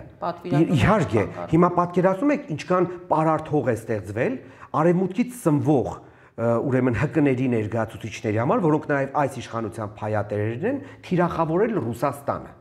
Իհարկե, հիմա պատկերացնում եք ինչքան պարարտ է ստեղծվել արևմուտքից սնվող ուրեմն հկների ներկայացուցիչների համար, որոնք նաև այս իշխանության փայատերերն են, թիրախավորել Ռուսաստանը։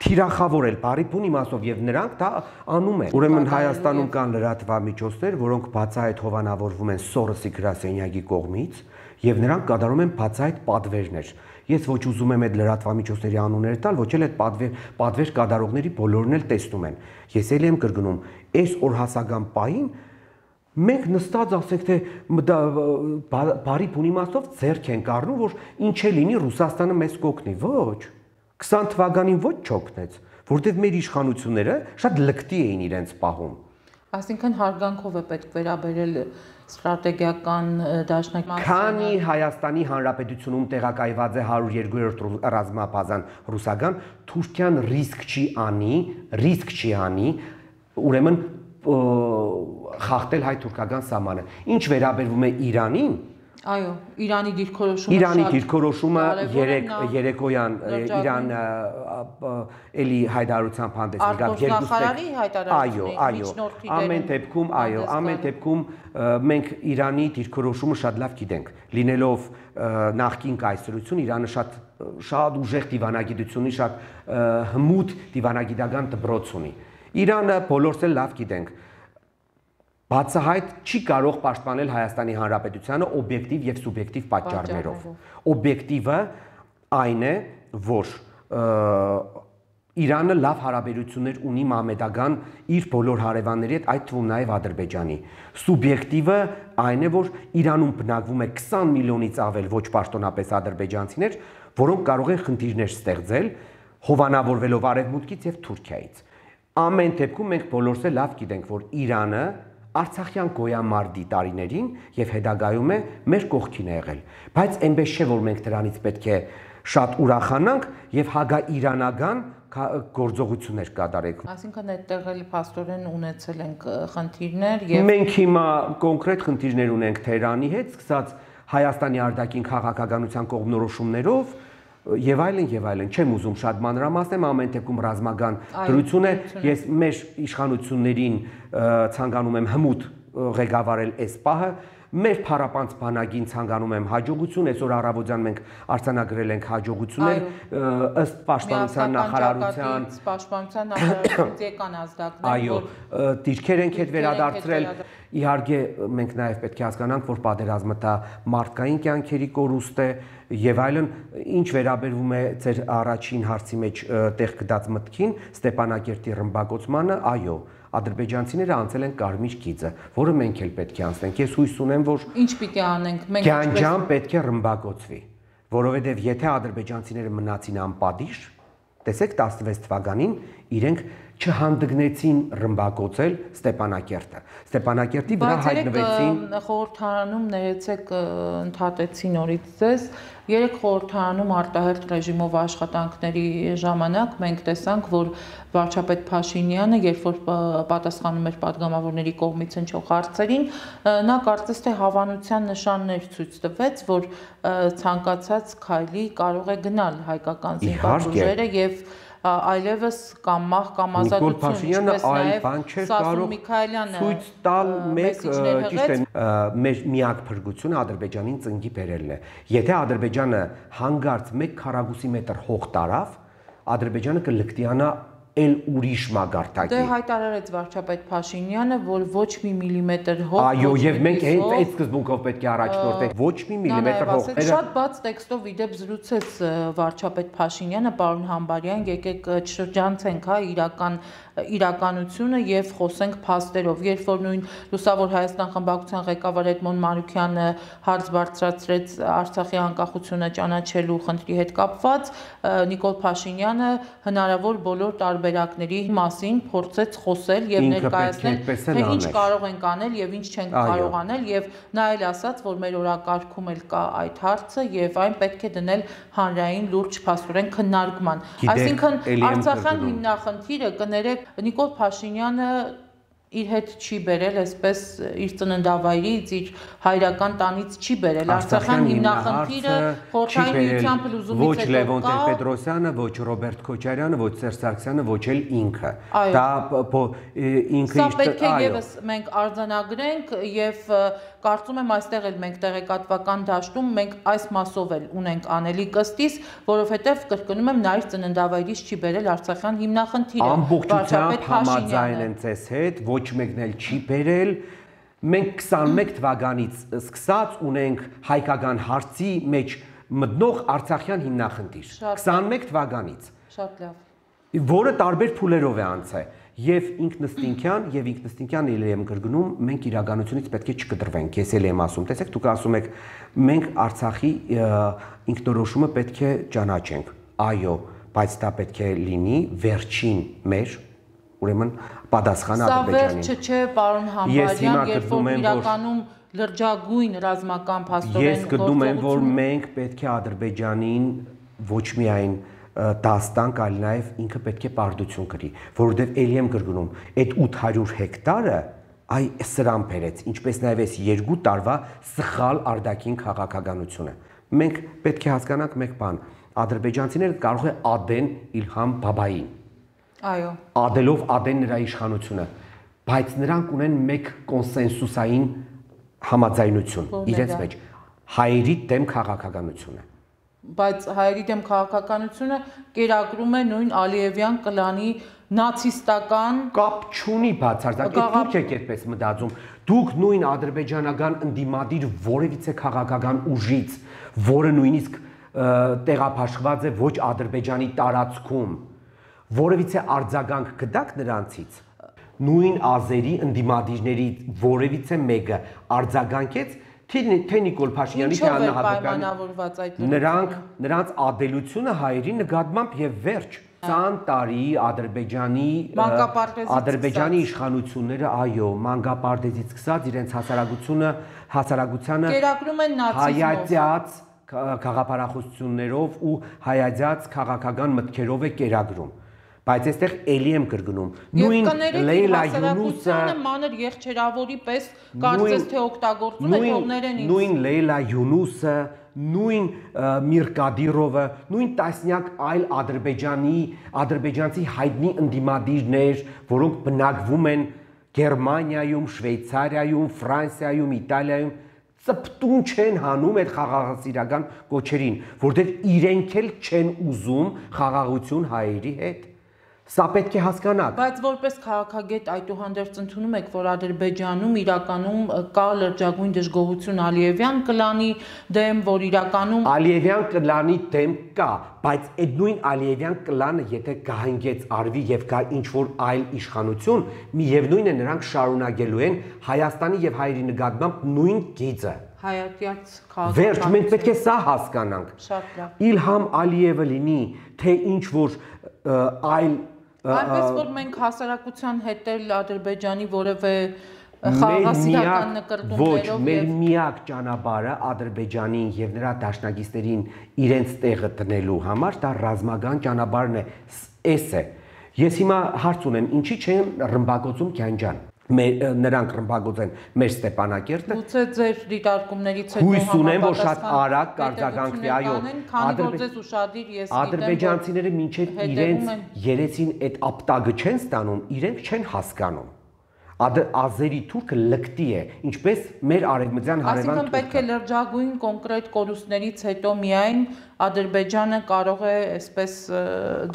Թիրախավորել բարի բուն իմաստով եւ նրանք դա անում են։ Ուրեմն Հայաստանում կան լրատվամիջոցներ, որոնք բացահայտ հովանավորվում են Սորոսի գրասենյակի կողմից եւ նրանք կատարում են բացահայտ պատվերներ։ Ես ոչ ուզում եմ այդ լրատվամիջոցների անունները տալ, ոչ էլ այդ պատվեր պատվեր կատարողների բոլորն էլ տեսնում են։ Ես էլ եմ կրկնում, այս օրհասական պահին մենք նստած ասենք թե բարի բուն իմաստով ձեռք ենք առնում, որ ինչ է լինի Ռուսաստանը մեզ կօգնի։ Ոչ։ քսան թվականին ոչ չօգնեց, որտեղ մեր իշխանությունները շատ լկտի էին իրենց պահում։ Այսինքն հարգանքով է պետք վերաբերել ստրատեգիական դաշնակցությունը։ Քանի Հայաստանի Հանրապետությունում տեղակայված է հարյուր երկու ռազմաբազան ռուսական, Թուրքիան ռիսկ չի անի, ռիսկ չի անի, ուրեմն խախտել հայ-թուրքական սահմանը։ Ինչ վերաբերվում է Իրանին, այո, Իրանի դիրքորոշումը Իրանի դիրքորոշումը երեք երեկոյան Իրան էլի հայտարարությամբ հանդես եկավ երկու այո, այո, ամեն դեպքում, այո, ամեն դեպքում մենք Իրանի դիրքորոշումը շատ լավ գիտենք։ Լինելով նախկին կայսրություն, Իրանը շատ շատ ուժեղ դիվանագիտություն ունի, շատ հմուտ դիվանագիտական դպրոց ունի։ Իրանը բոլորս էլ լավ գիտենք։ Բացահայտ չի կարող պաշտպանել Հայաստանի Հանրապետությանը օբյեկտիվ եւ սուբյեկտիվ պատճառներով։ Օբյեկտիվը այն է, որ Իրանը լավ հարաբերություններ ունի մամեդական իր բոլոր հարևանների հետ, այդ թվում նաեւ Ադրբեջանի։ Սուբյեկտիվը այն է, որ Իրանում բնակվում է քսան միլիոնից ավել ոչ պաշտոնապես ադրբեջանցիներ, որոնք կարող են խնդիրներ ստեղծել, հովանավորվելով Արևմուտքից եւ Թուրքիայից։ Ամեն դեպքում մենք բոլորս էլ լավ գիտենք, որ Իրանը Արցախյան գոյամարտի տարիներին եւ հետագայում է մեր կողքին է եղել, բայց այնպես չէ, որ մենք դրանից պետք է շատ ուրախանանք եւ հագաիրանական գործողություններ կատարենք։ Այսինքն այդտեղ էլ փաստորեն ունեցել ենք խնդիրներ եւ մենք հիմա կոնկրետ խնդիրներ ունենք Թեհրանի հետ, սկսած Հայաստանի արտաքին քաղաքականության կողմնորոշումներով եւ այլն եւ այլն, չեմ ուզում շատ մանրամասնեմ, ամեն դեպքում ռազմական դրություն է, ես մեր իշխանություններին ցանկանում եմ հմուտ ղեկավարել այս պահը, մեր փառապանց բանակին ցանկանում եմ հաջողություն, այսօր առավոտյան մենք արձանագրել ենք հաջողություններ ըստ պաշտպանության նախարարության, պաշտպանության նախարարությունից եկան ազդակներ, այո, դիրքեր ենք հետ վերադարձրել, իհարկե մենք նաև պետք է հասկանանք, որ պատերազմը դա մարդկային կյանքերի կորուստ է եւ այլն, ինչ վերաբերվում է ձեր առաջին հարցի մեջ տեղ գտած մտքին, Ստեփանակերտի ռմբակոծմանը, այո, ադրբեջանցիները անցել են կարմիր գիծը, որը մենք էլ պետք է անցնենք։ Ես հույս ունեմ, որ ինչ պիտի անենք, մենք Գանջան պետք է ռմբակոծվի, որովհետև եթե ադրբեջանցիները մնացին անպատիժ, տեսեք տասնվեց թվականին իրենք չհանդգնեցին ռմբակոծել Ստեփանակերտը։ Ստեփանակերտի վրա հայտնվեցին խորհրդարանում ներեցեք ընդհատեցի նորից ձեզ երեք խորհրդարանում արտահերթ ռեժիմով աշխատանքների ժամանակ մենք տեսանք, որ վարչապետ Փաշինյանը, երբ որ պատասխանում էր падգամավորների կողմից հնչող հարցերին, նա կարծես թե հավանության նշաններ ցույց տվեց, որ ցանկացած քայլի կարող է գնալ հայկական զինված ուժերը եւ այլևս կամ մահ կամ ազատություն, ինչպես նաև Սասուն Միքայելյանը ցույց տալ մեկ ճիշտ է մեր միակ փրկությունը Ադրբեջանին ծնկի բերելն է։ Եթե Ադրբեջանը հանգարց մեկ քառակուսի մետր հող տարավ, Ադրբեջանը կլկտիանա էլ ուրիշ մագարտակի։ Դե հայտարարեց վարչապետ Փաշինյանը, որ ոչ մի միլիմետր հող Այո, եւ մենք այդ այդ սկզբունքով պետք է առաջնորդենք ոչ մի միլիմետր հող։ Շատ բաց տեքստով իդեպ զրուցեց վարչապետ Փաշինյանը, պարոն Համբարյան, եկեք չշրջանցենք, հա, իրական իրականությունը եւ խոսենք փաստերով։ Երբ որ նույն Լուսավոր Հայաստան խմբակցության ղեկավար Էդմոն Մանուկյանը հարց բարձրացրեց Արցախի անկախությունը ճանաչելու խնդրի հետ կապված, Նիկոլ Փաշինյանը հնարավոր բոլոր տարբերակների մասին փորձեց խոսել եւ ներկայացնել, թե ինչ կարող ենք անել եւ ինչ չենք կարող անել եւ նա էլ ասաց, որ մեր օրակարգում էլ կա այդ հարցը եւ այն պետք է դնել հանրային լուրջ փաստորեն քննարկման։ Այսինքն Արցախյան հիմնախնդիրը կներեք Նիկոլ Փաշինյանը իր հետ չի բերել, այսպես իր ծննդավայրից, իր հայրական տանից չի բերել։ Արցախյան հիմնախնդիրը խորհրդային միության փլուզումից ոչ Լևոն Տեր-Պետրոսյանը, ոչ Ռոբերտ Քոչարյանը, ոչ Սերժ Սարգսյանը, ոչ էլ ինքը։ Դա ինքը Սա պետք է եւս մենք արձանագրենք եւ կարծում եմ այստեղ էլ մենք տեղեկատվական դաշտում մենք այս մասով էլ ունենք անելիք ըստիս, որովհետեւ կրկնում եմ նա իր ծննդավայրից չի բերել Արցախյան հիմնախնդիրը։ Ամբողջությամբ համաձայն են ձեզ հետ, ոչ մեկն էլ չի բերել։ Մենք քսանմեկ թվականից սկսած ունենք հայկական հարցի մեջ մտնող Արցախյան հիմնախնդիր։ քսանմեկ թվականից։ Շատ լավ։ Որը տարբեր փուլերով է անցել։ Եվ ինքնըստինքյան եւ ինքնըստինքյան էլ եմ կրկնում, մենք իրականությունից պետք է չկտրվենք։ Ես էլ եմ ասում, տեսեք, դուք ասում եք, մենք Արցախի ինքնորոշումը պետք է ճանաչենք։ Այո, բայց դա պետք է լինի վերջին մեր, ուրեմն պատասխանը Ադրբեջանին։ Սա վերջը չէ, պարոն Համբարյան, երբ որ իրականում լրջագույն ռազմական փաստորեն Ես գտնում եմ, որ մենք պետք է Ադրբեջանին ոչ միայն դաստանք, այլ նաև ինքը պետք է պարտություն կրի, որովհետև ելի եմ կրկնում, այդ ութ հարյուր հեկտարը այ սրան բերեց, ինչպես նաև այս երկու տարվա սխալ արտաքին քաղաքականությունը։ Մենք պետք է հասկանանք մեկ բան, ադրբեջանցիները կարող է ադեն Իլհամ Բաբային։ Այո։ Ադելով ադեն նրա իշխանությունը, բայց նրանք ունեն մեկ կոնսենսուսային համաձայնություն իրենց մեջ, հայերի դեմ քաղաքականությունը։ Բայց հայերի դեմ քաղաքականությունը կերակրում է նույն Ալիևյան կլանի նացիստական կապ չունի բացարձակ, դուք եք այդպես մտածում, դուք նույն ադրբեջանական ընդդիմադիր որևիցե քաղաքական ուժից, որը նույնիսկ տեղափաշխված է ոչ Ադրբեջանի տարածքում, որևիցե արձագանք կտաք նրանցից, նույն ազերի ընդդիմադիրների որևիցե մեկը արձագանքեց թե Նիկոլ Փաշինյանի, թե Աննա Հակոբյանի, նրանք նրանց ադելությունը հայերի նկատմամբ եւ վերջ քսան տարի Ադրբեջանի Ադրբեջանի իշխանությունները, այո, մանկապարտեզից սկսած իրենց հասարակությունը, հասարակությանը կերակրում են նացիզմով, հայացած քաղաքապարախոսություններով ու հայացած քաղաքական մտքերով է կերակրում։ Բայց այստեղ էլի եմ կրկնում, նույն Լեյլա Յունուսը մանր եղջերավորի պես կարծես թե օգտագործում է թողներեն ինձ։ Նույն Լեյլա Յունուսը, նույն Միր Կադիրովը, նույն տասնյակ այլ ադրբեջանի, ադրբեջանցի հայտնի ընդդիմադիրներ, որոնք բնակվում են Գերմանիայում, Շվեյցարիայում, Ֆրանսիայում, Իտալիայում, ծպտուն չեն հանում այդ խաղաղասիրական կոչերին, որտեղ իրենք էլ չեն ուզում խաղաղություն հայերի հետ։ Սա պետք է հասկանաք։ Բայց որպես քաղաքագետ այդուհանդերձ ընդունում եք, որ Ադրբեջանում իրականում կա լրջագույն դժգոհություն Ալիևյան կլանի դեմ, որ իրականում Ալիևյան կլանի դեմ կա, բայց այդ նույն Ալիևյան կլանը եթե կհանգեց արվի եւ կա ինչ-որ այլ իշխանություն, միևնույն է նրանք շարունակելու են Հայաստանի եւ հայերի նկատմամբ նույն գիծը։ Հայատյաց քաղաքական։ Վերջ մենք պետք է սա հասկանանք։ Շատ լավ։ Իլհամ Ալիևը լինի, թե ինչ-որ այլ Այնպես որ մենք հասարակության հետ էլ Ադրբեջանի որևէ խաղաղասիրական նկրտումներով ոչ, մեր միակ ճանապարհը Ադրբեջանին եւ նրա դաշնակիցներին իրենց տեղը տնելու համար դա ռազմական ճանապարհն է, էս է։ Ես հիմա հարց ունեմ, ինչի չեն ռմբակոծում Քյանջան։ Նրանք ռմբակոծեն մեր Ստեփանակերտը։ Գուցե ձեր դիտարկումներից հետո հույս ունեմ, որ շատ արագ կարձագանքվի, այո։ Քանի որ ձեզ ուշադիր ես գիտեմ, ադրբեջանցիները մինչև իրենց երեսին այդ ապտագը չեն ստանում, իրենք չեն հասկանում։ Ազերի թուրքը լկտի է, ինչպես մեր արևմտյան հարևան թուրքը։ Այսինքն պետք է լրջագույն կոնկրետ կորուստներից հետո միայն Ադրբեջանը կարող է այսպես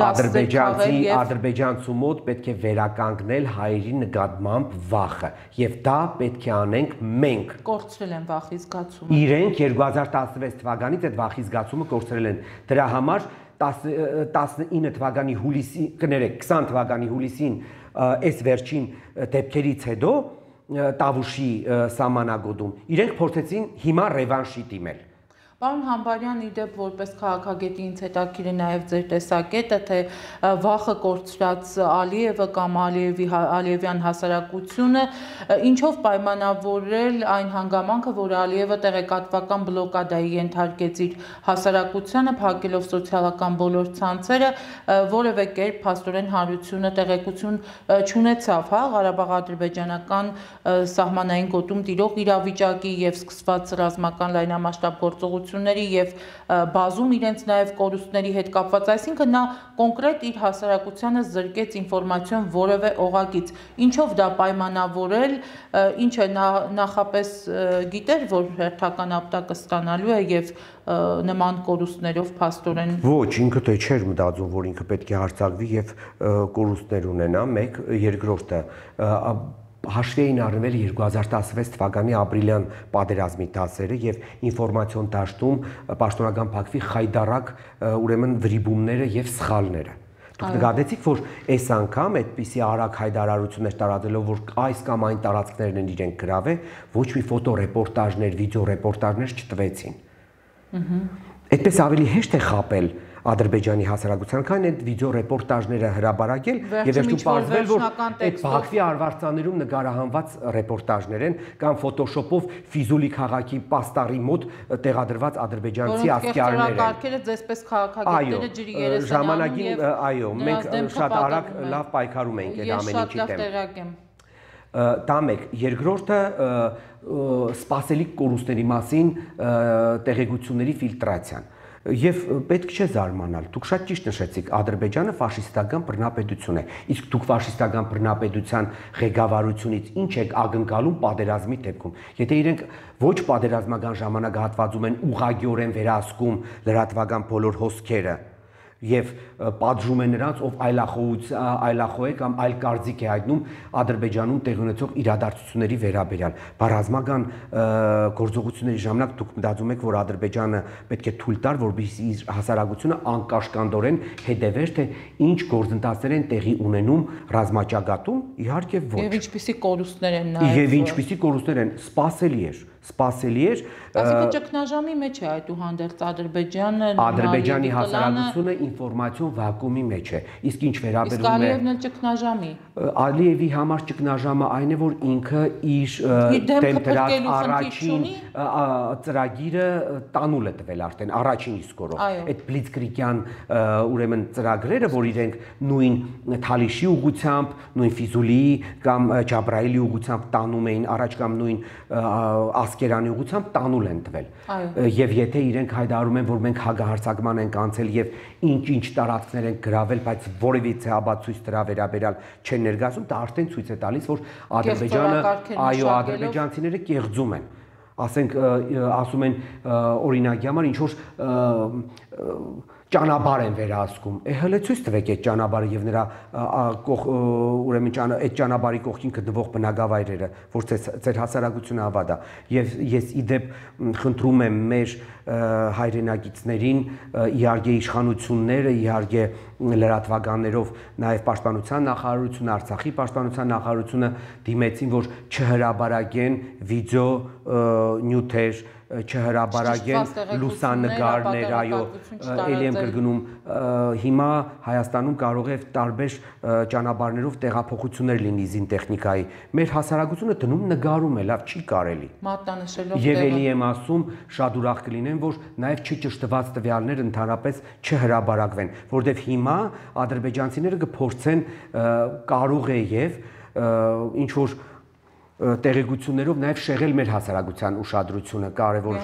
դասեր քաղել եւ ադրբեջանցու մոտ պետք է վերականգնել հայերի նկատմամբ վախը եւ դա պետք է անենք մենք։ Կորցրել են վախի զգացումը։ Իրենք երկու հազար տասնվեց թվականից այդ վախի զգացումը կորցրել են։ Դրա համար տասնինը թվականի հուլիսի, կներեք, քսան թվականի հուլիսին այս վերջին դեպքերից հետո Տավուշի սահմանագոտում իրենք փորձեցին հիմա ռևանշի դիմել։ Պարոն Համբարյան, իդեպ որպես քաղաքագետի ինձ հետաքրքիր է նաև ձեր տեսակետը, թե վախը կորցրած Ալիևը կամ Ալիևի Ալիևյան հասարակությունը ինչով պայմանավորել այն հանգամանքը, որ Ալիևը տեղեկատվական բլոկադայի ենթարկեց իր հասարակությանը, փակելով սոցիալական բոլոր ցանցերը, որևէ կերպ փաստորեն հանրությունը տեղեկություն չունեցավ, հա, Ղարաբաղ-ադրբեջանական սահմանային գոտում տիրող իրավիճակի եւ սկսված ռազմական լայնամասշտաբ գործողությունների եւ բազում իրենց նաեւ կորուստների հետ կապված, այսինքն նա կոնկրետ իր հասարակությանը զրկեց ինֆորմացիոն որևէ օղակից, ինչով դա պայմանավորել, ինչ է նախապես գիտեր, որ հերթական ապտակը ստանալու է եւ նման կորուստներով փաստորեն ոչ, ինքը թե չէր մտածում, որ ինքը պետք է հարձակվի եւ կորուստներ ունենա, մեկ, երկրորդը հաշվի էին առնվել երկու հազար տասնվեց թվականի ապրիլյան պատերազմի դասերը եւ ինֆորմացիոն դաշտում պաշտոնական փակվի խայդարակ ուրեմն վրիբումները եւ սխալները։ Դուք նկատեցիք, որ այս անգամ այդպիսի արագ հայտարարություններ տարածելով, որ այս կամ այն տարածքներն են իրենք գրավել, ոչ մի ֆոտոռեպորտաժներ, վիդեոռեպորտաժներ չտվեցին։ Այդպես ավելի հեշտ է խապել Ադրբեջանի հասարակության, քան այդ վիդեո ռեպորտաժները հրաբարակել եւ վերջում պարզվել, որ այդ Բաքվի արվարձաներում նկարահանված ռեպորտաժներ են կամ ֆոտոշոպով Ֆիզուլի քաղաքի պաստառի մոտ տեղադրված ադրբեջանցի ասկերներ են։ Կարգերը ձեզպես քաղաքագետները ջրի երես են ժամանակին, այո, մենք շատ արագ լավ պայքարում ենք այդ ամեն ինչի դեմ։ Դա մեկ, երկրորդը սպասելիք կորուստների մասին տեղեկությունների ֆիլտրացիան։ Եվ պետք չէ զարմանալ, դուք շատ ճիշտ նշեցիք, Ադրբեջանը ֆաշիստական բռնապետություն է, իսկ դուք ֆաշիստական բռնապետության ղեկավարությունից ինչ եք ակնկալում պատերազմի դեպքում։ Եթե իրենք ոչ պատերազմական ժամանակահատվածում են ուղղակիորեն վերահսկում լրատվական բոլոր հոսքերը եւ պատժում է նրանց, ով այլախոհ է կամ այլ կարծիք է հայտնում Ադրբեջանում տեղի ունեցող իրադարձությունների վերաբերյալ։ Բառազմական գործողությունների ժամանակ դուք մտածում եք, որ Ադրբեջանը պետք է թույլ տար, որպեսզի իր հասարակությունը անկաշկանդորեն հետևեր, թե ինչ գործընթացներ են տեղի ունենում ռազմաճակատում, իհարկե ոչ։ Եվ ինչպիսի կորուստներ են նաեւ։ Եվ ինչպիսի կորուստներ են, սպասելի էր, սպասելի էր։ Այսինքն ճգնաժամի մեջ է այդուհանդերձ Ադրբեջանը, Ադրբեջանի հասարակությունը ինֆորմացիոն վակուումի մեջ է։ Իսկ ինչ վերաբերում է Ալիևն էլ ճգնաժամի։ Ալիևի համար ճգնաժամը այն է, որ ինքը իր դեմ դրած առաջին ծրագիրը տանուլ է տվել արդեն առաջին իսկորով։ Այդ բլիցկրիգյան ուրեմն ծրագրերը, որ իրենք նույն Թալիշի ուղղությամբ, նույն Ֆիզուլիի կամ Ջաբրայելի ուղղությամբ տանում էին առաջ կամ նույն Ասկերանի ուղղությամբ տանուլ են տվել։ Եվ եթե իրենք հայտարարում են, որ մենք հագահարձակման ենք անցել եւ ինչ-ինչ տարածքներ են գրավել, բայց որևիցե ապացույց դրա վերաբերյալ չեն ներկայացում, դա արդեն ցույց է տալիս, որ Ադրբեջանը, այո, ադրբեջանցիները կեղծում են։ Ասենք ասում են օրինակի համար ինչ որ ճանապարհ են վերահսկում։ Է հələ ցույց տվեք այդ ճանապարհը եւ նրա ուրեմն այդ ճանապարհի կողքին գտնվող բնակավայրերը, որ ձեր հասարակությունը հավատա։ Եվ ես իդեպ խնդրում եմ մեր հայրենակիցներին, իհարկե իշխանությունները, իհարկե լրատվականներով, նաև պաշտպանության նախարարությունը, Արցախի պաշտպանության նախարարությունը դիմեցին, որ չհրաբարակեն վիդեո նյութեր չհրաբարագեն լուսանկարներ, այո, էլի եմ կրկնում, հիմա Հայաստանում կարող է տարբեր ճանապարհներով տեղափոխություններ լինի զինտեխնիկայի։ Մեր հասարակությունը դնում նկարում է, լավ չի կարելի։ Մատնանշելով Եվ էլի եմ ասում, շատ ուրախ կլինեմ, որ նաև չճշտված տվյալներ ընդհանրապես չհրաբարակվեն, որովհետև հիմա ադրբեջանցիները կփորձեն կարող է եւ ինչ որ տեղեկություններով նաև շեղել մեր հասարակության ուշադրությունը կարևոր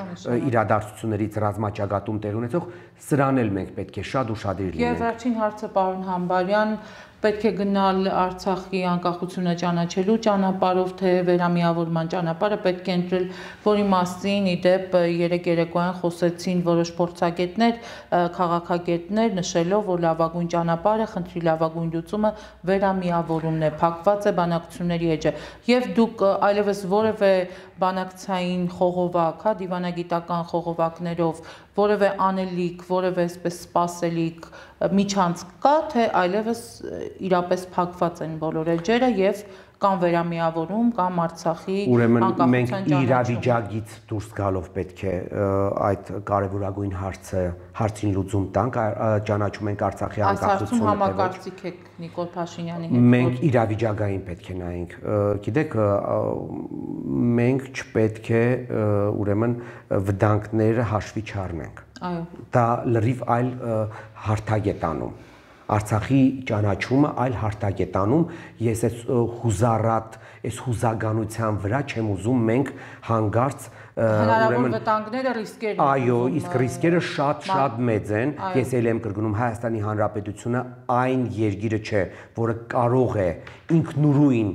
իրադարձություններից ռազմաճակատում տեղ ունեցող սրան էլ մենք պետք է շատ ուշադիր լինենք։ Եվ վերջին հարցը պարոն Համբարյան, պետք է գնալ Արցախի անկախությունը ճանաչելու ճանապարհով, թե վերամիավորման ճանապարհը պետք է ընտրել, որի մասին ի դեպ երեք երեկոյան խոսեցին որոշ փորձագետներ, քաղաքագետներ, նշելով, որ լավագույն ճանապարհը, խնդրի լավագույն լուծումը վերամիավորումն է, փակված է բանակցությունների էջը։ Եվ դուք այլևս որևէ բանակցային խողովակ, հա, դիվանագիտական խողովակներով որևէ անելիք, որևէ այսպես սպասելիք միջանց կա, թե այլևս իրապես փակված են բոլոր էջերը եւ կամ վերամիավորում կամ Արցախի անկախության մենք իրավիճակից դուրս գալով պետք է այդ կարևորագույն հարցը հարցին լուծում տանք, ճանաչում ենք Արցախի անկախությունը։ Այս հարցում համակարծիք եք Նիկոլ Փաշինյանի հետ։ Մենք իրավիճակային պետք է նայենք։ Գիտեք, մենք չպետք է ուրեմն վտանգները հաշվի չառնենք։ Այո։ Դա լրիվ այլ հարթակ է տանում։ Արցախի ճանաչումը այլ հարթակ է տանում, ես այս հուզառատ, այս հուզագանության վրա չեմ ուզում մենք հանգարց հնարավոր վտանգները, ռիսկերը։ Այո, իսկ ռիսկերը շատ-շատ մեծ են։ Ես էլ եմ կրկնում, Հայաստանի Հանրապետությունը այն երկիրը չէ, որը կարող է ինքնուրույն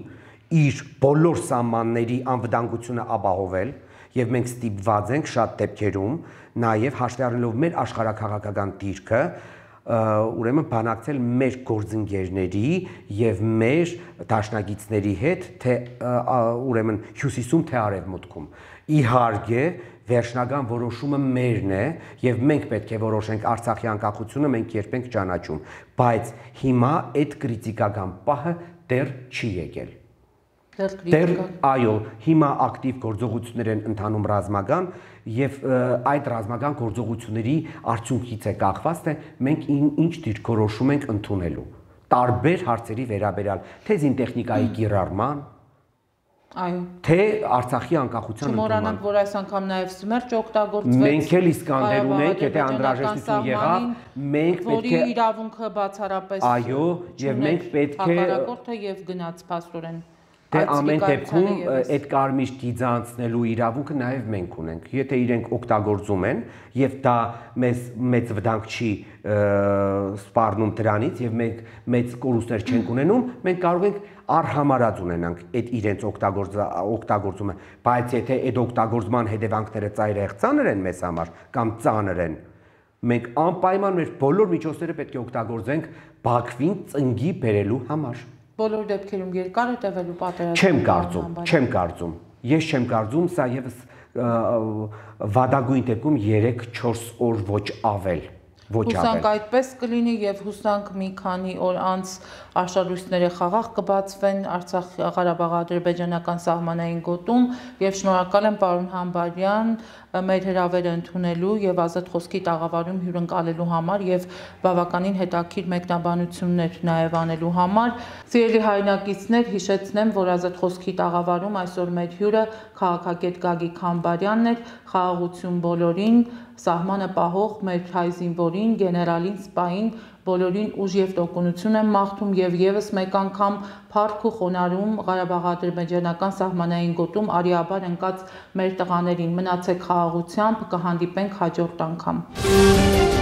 իր բոլոր սահմանների անվտանգությունը ապահովել, եւ մենք ստիպված ենք շատ դեպքերում, նաեւ հաշվի առնելով մեր աշխարհաքաղաքական դիրքը, ուրեմն բանակցել մեր գործընկերների եւ մեր դաշնակիցների հետ, թե ուրեմն հյուսիսում, թե արևմուտքում։ Իհարկե, վերջնական որոշումը մերն է եւ մենք պետք է որոշենք Արցախի անկախությունը, մենք երբ ենք ճանաչում, բայց հիմա այդ կրիտիկական պահը դեռ չի եկել։ Դեռ այո, հիմա ակտիվ գործողություններ են ընթանում ռազմական եւ այդ ռազմական գործողությունների արդյունքից է կախված, թե մենք ինչ դիրքորոշում ենք ընդունելու տարբեր հարցերի վերաբերյալ, թե զինտեխնիկայի կիրառման, այո, թե Արցախի անկախության ընդունման։ Չմոռանանք, որ այս անգամ նաեւ Սմերջ օգտագործվեց։ Մենք էլ Իսկանդեր ունենք, եթե անհրաժեշտություն եղավ, մենք պետք է որի իրավունքը բացառապես այո, եւ մենք պետք է հակառակորդը եւ գնաց փաստորեն։ Դե ամեն դեպքում այդ կարմիր գիծը անցնելու իրավունքը նաև մենք ունենք։ Եթե իրենք օգտագործում են եւ դա մեզ մեծ վտանգ չի սպառնում դրանից եւ մենք մեծ կորուստներ չենք ունենում, մենք կարող ենք առհամարած ունենանք այդ իրենց օգտագործումը, բայց եթե այդ օգտագործման հետևանքները ծայրահեղ ծանր են մեզ համար կամ ծանր են, մենք անպայման մեր բոլոր միջոցները պետք է օգտագործենք Բաքվին ծնգի բերելու համար։ Բոլոր դեպքերում երկար է տևելու պատերազմը։ Չեմ կարծում, չեմ կարծում։ Ես չեմ կարծում, սա եւս վադագույն դեպքում երեք-չորս օր ոչ ավել, ոչ ավել։ Հուսանք այդպես կլինի եւ հուսանք մի քանի օր անց արշալույսները խաղաղ կբացվեն Արցախ-Ղարաբաղ-ադրբեջանական սահմանային գոտում եւ շնորհակալ եմ պարոն Համբարյան մեր հրավերը ընդունելու եւ ազատ խոսքի տաղավարում հյուրընկալելու համար եւ բավականին հետաքրքիր մեկնաբանություններ նաեւ անելու համար։ Սիրելի հայրենակիցներ, հիշեցնեմ, որ ազատ խոսքի տաղավարում այսօր մեր հյուրը քաղաքագետ Գագիկ Համբարյանն էր, խաղաղություն բոլորին, սահմանը պահող մեր հայ զինվորին, գեներալին, սպային, բոլորին ուժ եւ տոկունություն եմ մաղթում եւ եւս մեկ անգամ փառք ու խոնարհում Ղարաբաղ-ադրբեջանական սահմանային գոտում արիաբար ընկած մեր տղաներին։ Մնացեք խաղաղությամբ, կհանդիպենք հաջորդ անգամ։